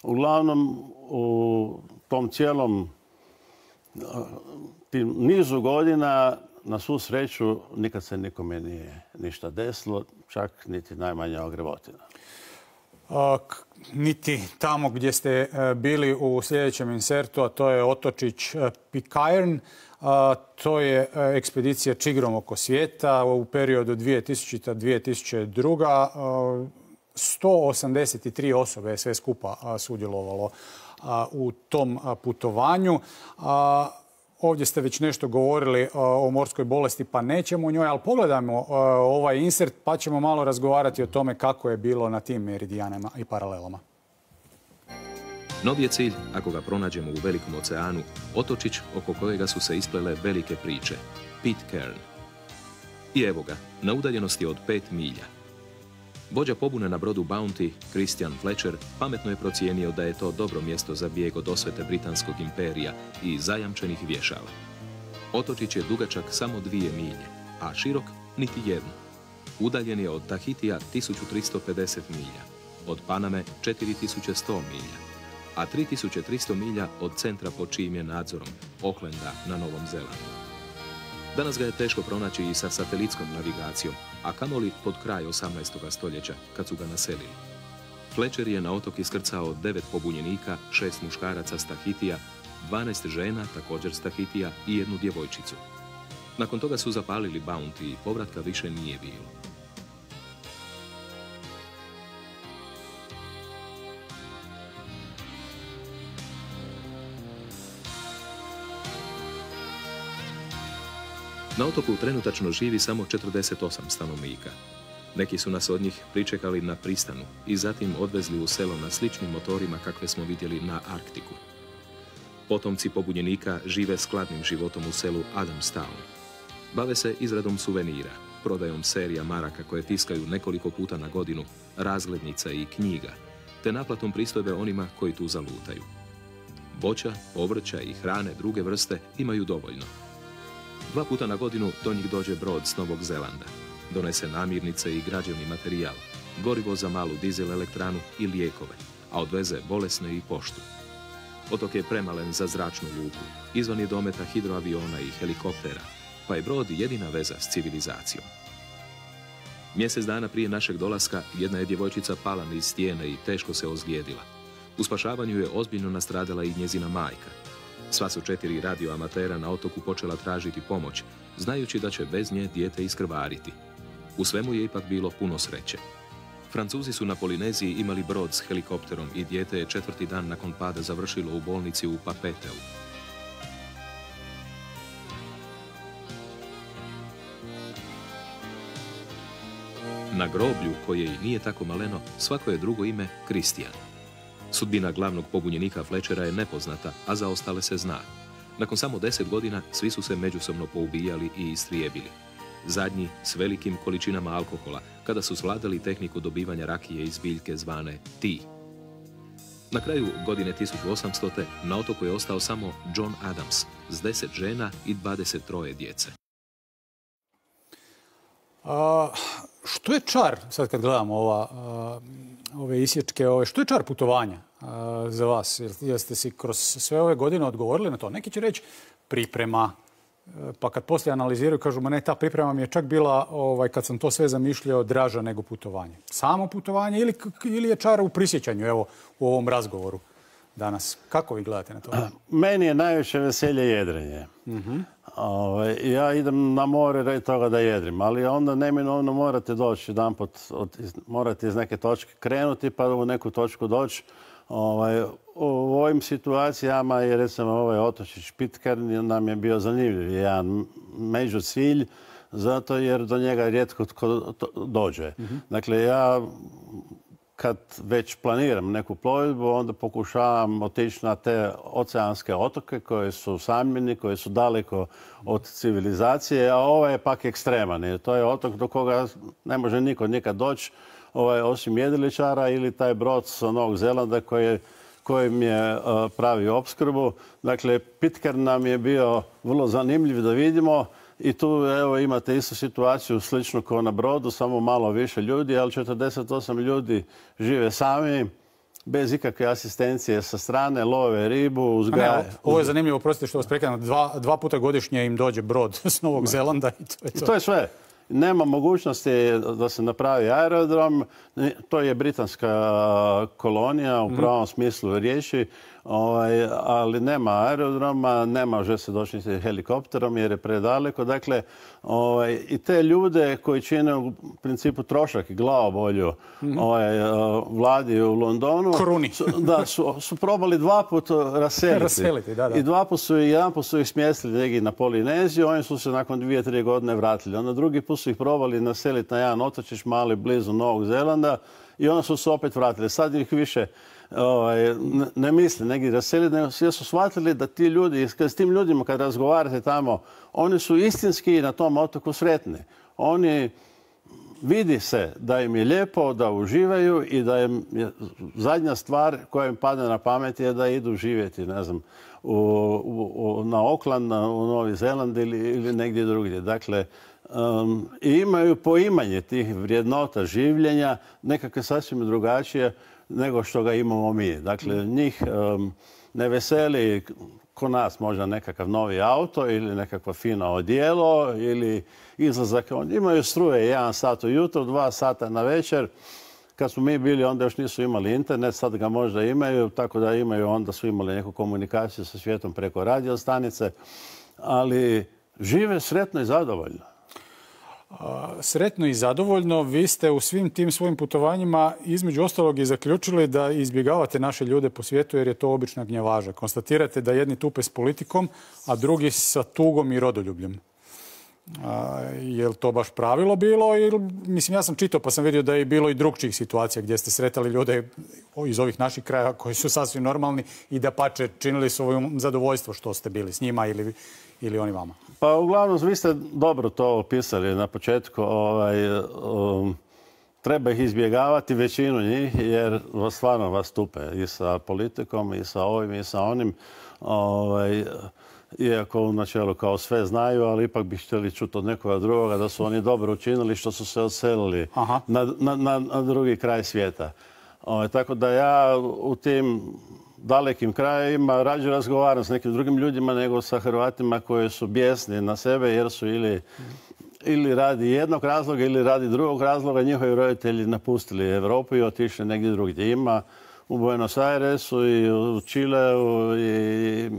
Uglavnom, u tom cijelom tim nizu godina, na svu sreću, nikad se nikome nije ništa desilo, čak niti najmanja ogrevotina. A, niti tamo gdje ste bili u sljedećem insertu, a to je otočić Pitcairn. A, to je ekspedicija čigrom oko svijeta u periodu dvije tisućita do dvije tisuće druge. A, sto osamdeset tri osobe je sve skupa a, sudjelovalo a, u tom a, putovanju. A, ovdje ste već nešto govorili o morskoj bolesti, pa nećemo o njoj, ali pogledajmo ovaj insert pa ćemo malo razgovarati o tome kako je bilo na tim meridijanama i paralelama. Novi je cilj, ako ga pronađemo u velikom oceanu, otočić oko kojega su se isplele velike priče, Pitcairn. I evo ga, na udaljenosti od pet milja. Vođa pobune na brodu Bounty, Christian Fletcher, pametno je procijenio da je to dobro mjesto za bijeg od osvete Britanskog imperija i zajamčenih vješala. Otočić je dugačak samo dvije milje, a širok niti jednu. Udaljen je od Tahitija tisuću tristo pedeset milja, od Paname četiri tisuće sto milja, a tri tisuće tristo milja od centra pod čijim je nadzorom, Aucklanda na Novom Zelandu. Danas ga je teško pronaći i sa satelitskom navigacijom, a kamoli pod kraj osamnaestog stoljeća, kad su ga naselili. Fletcher je na otok iskrcao devet pobunjenika, šest muškaraca s Tahitija, dvanaest žena, također s Tahitija i jednu djevojčicu. Nakon toga su zapalili Bounty i povratka više nije bilo. Na otoku trenutačno živi samo četrdeset osam stanovnika. Neki su nas od njih pričekali na pristanu i zatim odvezli u selo na sličnim motorima kakve smo vidjeli na Arktiku. Potomci pobunjenika žive skladnim životom u selu Adamstown. Bave se izradom suvenira, prodajom serija maraka koje tiskaju nekoliko puta na godinu, razglednica i knjiga, te naplatom pristojbe onima koji tu zalutaju. Voća, povrća i hrane druge vrste imaju dovoljno. Dva puta na godinu do njih dođe brod s Novog Zelanda. Donese namirnice i građevni materijal, gorivo za malu dizel elektranu i lijekove, a odveze bolesne i poštu. Otok je premalen za zračnu luku, izvan je dometa hidroaviona i helikoptera, pa je brod jedina veza s civilizacijom. Mjesec dana prije našeg dolaska jedna je djevojčica pala niz stijene i teško se ozlijedila. U spašavanju je ozbiljno nastradala i njezina majka. Sva su četiri radioamatera na otoku počela tražiti pomoć, znajući da će bez nje dijete iskrvariti. U svemu je ipak bilo puno sreće. Francuzi su na Polineziji imali brod s helikopterom i dijete je četvrti dan nakon pada završilo u bolnici u Papeteu. Na groblju, koje i nije tako maleno, svako je drugo ime Kristijan. Sudbina glavnog pobunjenika Fletchera je nepoznata, a za ostale se zna. Nakon samo deset godina svi su se međusobno poubijali i istrijebili. Zadnji s velikim količinama alkohola, kada su svladali tehniku dobivanja rakije iz biljke zvane ti. Na kraju godine tisuću osamstote na otoku je ostao samo John Adams s deset žena i dvadeset troje djece. A, što je čar, sad kad gledamo ova, a, ove isječke, ove, što je čar putovanja a, za vas? Jeste si kroz sve ove godine odgovorili na to? Neki će reći priprema, pa kad poslije analiziraju kažu, ma ne, ta priprema mi je čak bila, ovaj, kad sam to sve zamišljao, draža nego putovanje. Samo putovanje ili, ili je čar u prisjećanju, evo, u ovom razgovoru danas? Kako vi gledate na to? Meni je najviše veselje jedrenje. Uh-huh. Ove, ja idem na more radi toga da jedrim, ali onda neminovno morate doći jedanput, od, morate iz neke točke krenuti pa u neku točku doći. Ovaj, u ovim situacijama je recimo ovaj otočić Pitcairn nam je bio zanimljiv, jedan među cilj, zato jer do njega rijetko tko dođe. Uh-huh. Dakle, ja kad već planiram neku plovidbu, onda pokušavam otići na te oceanske otoke koje su usamljeni, koje su daleko od civilizacije, a ovaj je pak ekstreman. Jer to je otok do koga ne može niko nikad doći, ovaj, osim jedriličara ili taj brod sa Novog Zelanda koji, kojim je uh, pravi opskrbu. Dakle, Pitcairn nam je bio vrlo zanimljiv da vidimo. I tu evo, imate istu situaciju slično kao na brodu, samo malo više ljudi, ali četrdeset osam ljudi žive sami, bez ikakve asistencije sa strane, love ribu, uzgajaju. Ovo je zanimljivo, prostite što vas prekidam, dva, dva puta godišnje im dođe brod s Novog Zelanda i to je to. I to je sve. nema mogućnosti da se napravi aerodrom. To je britanska kolonija u pravom smislu riječi, ovaj, ali nema aerodroma, ne može se doći niti helikopterom jer je predaleko. Dakle, ovaj, i te ljude koji čine u principu trošak i glavobolju mm-hmm. ovaj, vladi u Londonu, su, da, su, su probali dva puta raseliti. raseliti da, da. I dva put su, jedan put su ih smjestili negdje na Polineziju, oni su se nakon dvije, tri godine vratili. Onda drugi put su ih probali naseliti na jedan otočić mali blizu Novog Zelanda i onda su se opet vratili. Sad ih više ovaj, ne, ne misle negdje raseliti, nego svi su shvatili da ti ljudi, s tim ljudima kad razgovarate tamo, oni su istinski na tom otoku sretni. Oni vidi se da im je lijepo, da uživaju i da im je zadnja stvar koja im padne na pamet je da idu živjeti, ne znam, u, u, na Auckland, na, u Novi Zeland ili, ili negdje drugdje. Dakle, um, i imaju poimanje tih vrijednota življenja nekakve sasvim drugačije nego što ga imamo mi. Dakle, njih um, ne veseli ko nas možda nekakav novi auto ili nekakvo fino odijelo ili izlazak. Imaju struje jedan sat ujutro, dva sata na večer. Kad smo mi bili, onda još nisu imali internet, sad ga možda imaju, tako da imaju, onda su imali neku komunikaciju sa svijetom preko radio stanice, ali žive sretno i zadovoljno. Sretno i zadovoljno. Vi ste u svim tim svojim putovanjima između ostalog i zaključili da izbjegavate naše ljude po svijetu jer je to obična gnjavaža. Konstatirate da jedni tupe s politikom, a drugi sa tugom i rodoljubljem. A, je li to baš pravilo bilo? Ili, mislim, ja sam čitao pa sam vidio da je bilo i drugčijih situacija gdje ste sretali ljude iz ovih naših kraja koji su sasvim normalni i da pače činili svoje zadovoljstvo što ste bili s njima ili, ili oni vama. Pa uglavnom vi ste dobro to opisali na početku. Ovaj, um, treba ih izbjegavati, većinu njih, jer vas stvarno vas tupe i sa politikom, i sa ovim, i sa onim. Ovaj, iako u načelu kao sve znaju, ali ipak bi htjeli čuti od nekoga drugoga da su oni dobro učinili što su se odselili na, na, na, na drugi kraj svijeta. Ovaj, tako da ja u tim dalekim krajevima rađe razgovaram s nekim drugim ljudima nego sa Hrvatima koji su bijesni na sebe jer su ili, ili radi jednog razloga ili radi drugog razloga njihovi roditelji napustili Europu i otišli negdje drugdje. Ima u Buenos Airesu i u Čileu i,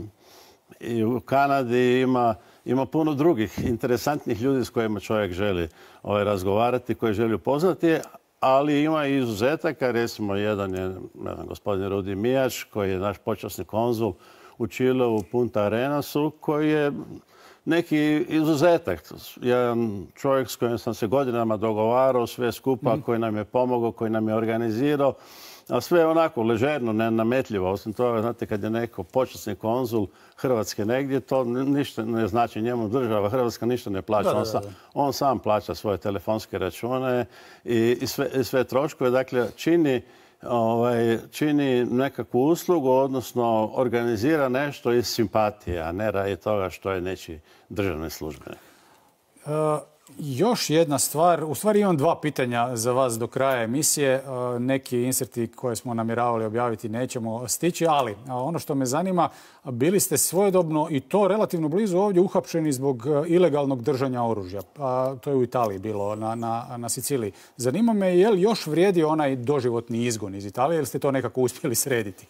i u Kanadi ima, ima puno drugih interesantnih ljudi s kojima čovjek želi ovaj, razgovarati, koji želi upoznati. Ali ima i izuzetaka, recimo jedan je ne znam, gospodin Rudi Mijač, koji je naš počasni konzul u Čileu, u Punta Arenasu, koji je neki izuzetak. Jedan čovjek s kojim sam se godinama dogovarao, sve skupa, mm. koji nam je pomogao, koji nam je organizirao, a sve onako ležerno, nenametljivo. Osim toga, znate, kad je neko počasni konzul Hrvatske negdje, to ništa ne znači njemu država. Hrvatska ništa ne plaća. Da, da, da. On, sam, on sam plaća svoje telefonske račune i, i, sve, i sve troškove. Dakle, čini, ovaj, čini nekakvu uslugu, odnosno organizira nešto iz simpatije, a ne radi toga što je nečiji državni službenik. Uh... Još jedna stvar, u stvari imam dva pitanja za vas do kraja emisije. Neki inserti koje smo namjeravali objaviti nećemo stići, ali ono što me zanima, bili ste svojedobno i to relativno blizu ovdje uhapšeni zbog ilegalnog držanja oružja. A to je u Italiji bilo, na, na, na Siciliji. Zanima me je li još vrijedi onaj doživotni izgon iz Italije ili ste to nekako uspjeli srediti?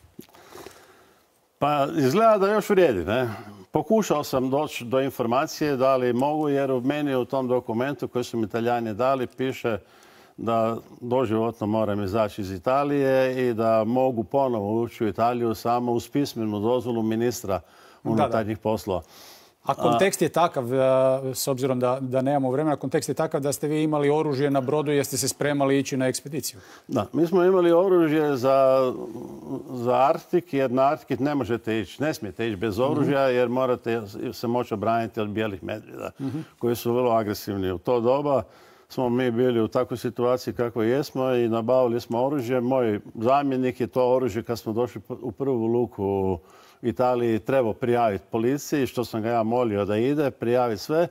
Pa izgleda da još vrijedi, ne? Pokušao sam doći do informacije da li mogu, jer u meni u tom dokumentu koji su mi Italijani dali piše da doživotno moram izaći iz Italije i da mogu ponovo ući u Italiju samo uz pismenu dozvolu ministra unutarnjih poslova. A kontekst je takav, s obzirom da, da nemamo vremena, kontekst je takav da ste vi imali oružje na brodu jer ste se spremali ići na ekspediciju. Da, mi smo imali oružje za, za Arktik, jer na Arktik ne možete ići, ne smijete ići bez oružja jer morate se moći obraniti od bijelih medvjeda mm-hmm. koji su vrlo agresivni. U to doba smo mi bili u takvoj situaciji kako jesmo i nabavili smo oružje. Moj zamjenik je to oružje kad smo došli u prvu luku u Italiji trebao prijaviti policiji, što sam ga ja molio da ide, prijavi sve.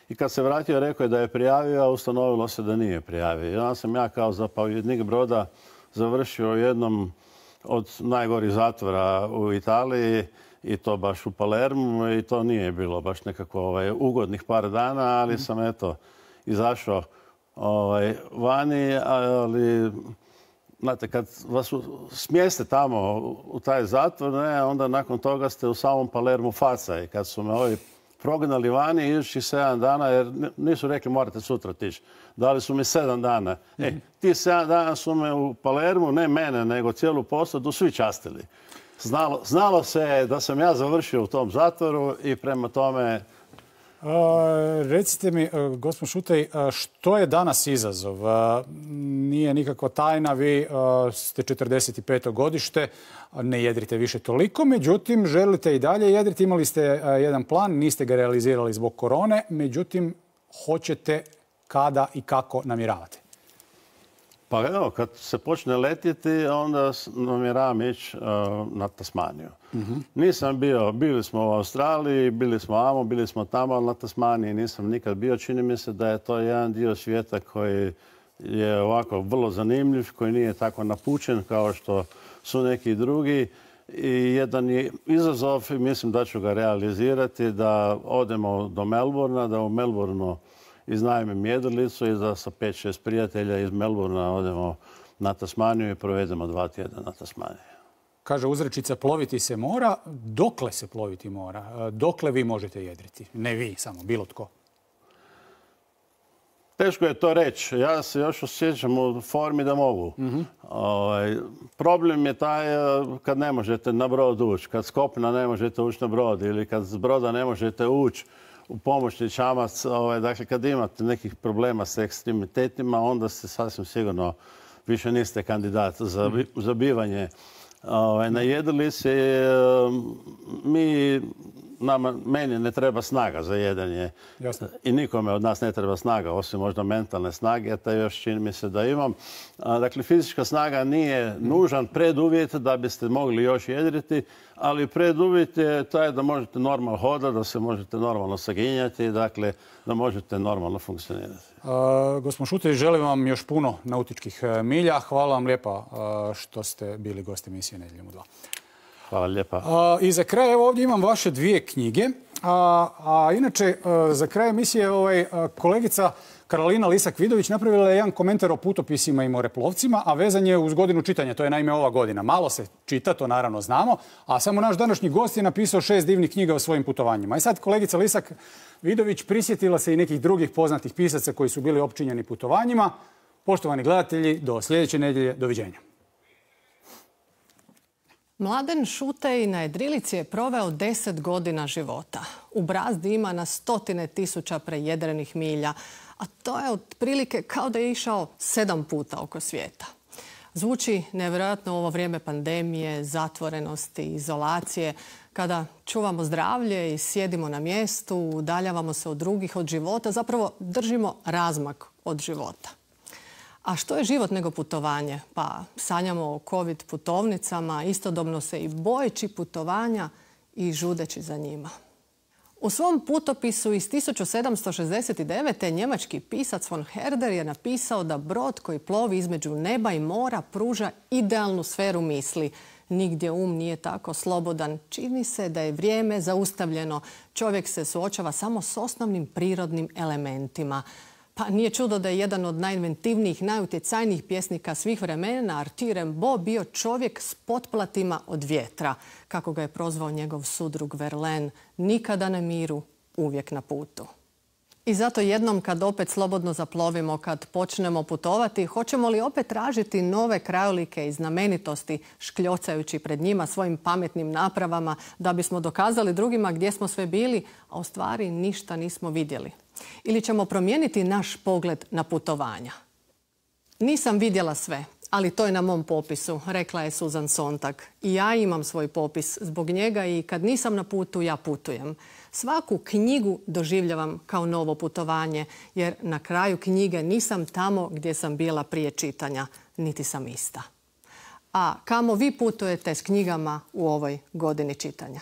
I kad se vratio, rekao je da je prijavio, a ustanovilo se da nije prijavio. I onda sam ja kao zapovjednik broda završio u jednom od najgorih zatvora u Italiji i to baš u Palermu i to nije bilo baš nekako ovaj, ugodnih par dana, ali sam eto izašao ovaj, vani, ali znate, kad vas smjeste tamo u taj zatvor, ne, onda nakon toga ste u samom Palermu faca. I kad su me ovi prognali vani idućih sedam dana, jer nisu rekli morate sutra tići. Dali su mi sedam dana. E, ti sedam dana su me u Palermu, ne mene, nego cijelu posadu, svi častili. Znalo, znalo se da sam ja završio u tom zatvoru i prema tome... Uh, recite mi, uh, gospodin Šutej, uh, što je danas izazov? Uh, nije nikakva tajna, vi uh, ste četrdeset peto godište, ne jedrite više toliko, međutim, želite i dalje jedriti. Imali ste uh, jedan plan, niste ga realizirali zbog korone, međutim, hoćete kada i kako namjeravate? Pa evo, kad se počne letjeti, onda namjeravam ići uh, na Tasmaniju. Mm-hmm. Nisam bio, bili smo u Australiji, bili smo amo, bili smo tamo, ali na Tasmaniji nisam nikad bio. Čini mi se da je to jedan dio svijeta koji je ovako vrlo zanimljiv, koji nije tako napučen kao što su neki drugi. I jedan je izazov, i mislim da ću ga realizirati, da odemo do Melbourna, da u Melbourneu iznajmim jedrilicu i da sa pet šest prijatelja iz Melbourna odemo na Tasmaniju i provedemo dva tjedna na Tasmaniji. Kaže uzrečica, ploviti se mora. Dokle se ploviti mora? Dokle vi možete jedriti? Ne vi, samo bilo tko. Teško je to reći. Ja se još osjećam u formi da mogu. Mm-hmm. Ovaj, problem je taj kad ne možete na brod ući. Kad s kopna ne možete ući na brod ili kad s broda ne možete ući u pomoćni čamac. Ovaj, dakle, kad imate nekih problema s ekstremitetima, onda ste sasvim sigurno više niste kandidat za, za bivanje ovaj, na jedrilici. Mi, nama, meni ne treba snaga za jedanje. Jasne. I nikome od nas ne treba snaga, osim možda mentalne snage, a to još čini mi se da imam. Dakle, fizička snaga nije nužan preduvjet da biste mogli još jedriti, ali preduvjet je taj da možete normalno hodati, da se možete normalno saginjati, dakle, da možete normalno funkcionirati. Uh, Gospodin Šutej, želim vam još puno nautičkih milja. Hvala vam lijepa uh, što ste bili gosti emisije Nedjeljom u dva. Hvala lijepa. Uh, I za kraj, evo ovdje imam vaše dvije knjige. A, a inače, uh, za kraj emisije ovaj, uh, kolegica Karolina Lisak-Vidović napravila je jedan komentar o putopisima i moreplovcima, a vezan je uz godinu čitanja. To je naime ova godina. Malo se čita, to naravno znamo, a samo naš današnji gost je napisao šest divnih knjiga o svojim putovanjima. I sad kolegica Lisak-Vidović prisjetila se i nekih drugih poznatih pisaca koji su bili opčinjeni putovanjima. Poštovani gledatelji, do sljedeće nedjelje, doviđenja. Mladen Šutej na jedrilici je proveo deset godina života. U brazdi ima na stotine tisuća prejedrenih milja, a to je otprilike kao da je išao sedam puta oko svijeta. Zvuči nevjerojatno u ovo vrijeme pandemije, zatvorenosti, izolacije, kada čuvamo zdravlje i sjedimo na mjestu, udaljavamo se od drugih, od života, zapravo držimo razmak od života. A što je život nego putovanje? Pa sanjamo o covid putovnicama, istodobno se i bojeći putovanja i žudeći za njima. U svom putopisu iz tisuću sedamsto šezdeset devete. njemački pisac von Herder je napisao da brod koji plovi između neba i mora pruža idealnu sferu misli. Nigdje um nije tako slobodan. Čini se da je vrijeme zaustavljeno. Čovjek se suočava samo s osnovnim prirodnim elementima. Pa nije čudo da je jedan od najinventivnijih, najutjecajnijih pjesnika svih vremena, Arthur Rimbaud, bio čovjek s potplatima od vjetra, kako ga je prozvao njegov sudrug Verlaine, nikada na miru, uvijek na putu. I zato jednom kad opet slobodno zaplovimo, kad počnemo putovati, hoćemo li opet tražiti nove krajolike i znamenitosti, škljocajući pred njima svojim pametnim napravama, da bismo dokazali drugima gdje smo sve bili, a u stvari ništa nismo vidjeli. Ili ćemo promijeniti naš pogled na putovanja. Nisam vidjela sve, ali to je na mom popisu, rekla je Susan Sontag. I ja imam svoj popis zbog njega i kad nisam na putu, ja putujem. Svaku knjigu doživljavam kao novo putovanje, jer na kraju knjige nisam tamo gdje sam bila prije čitanja, niti sam ista. A kamo vi putujete s knjigama u ovoj godini čitanja?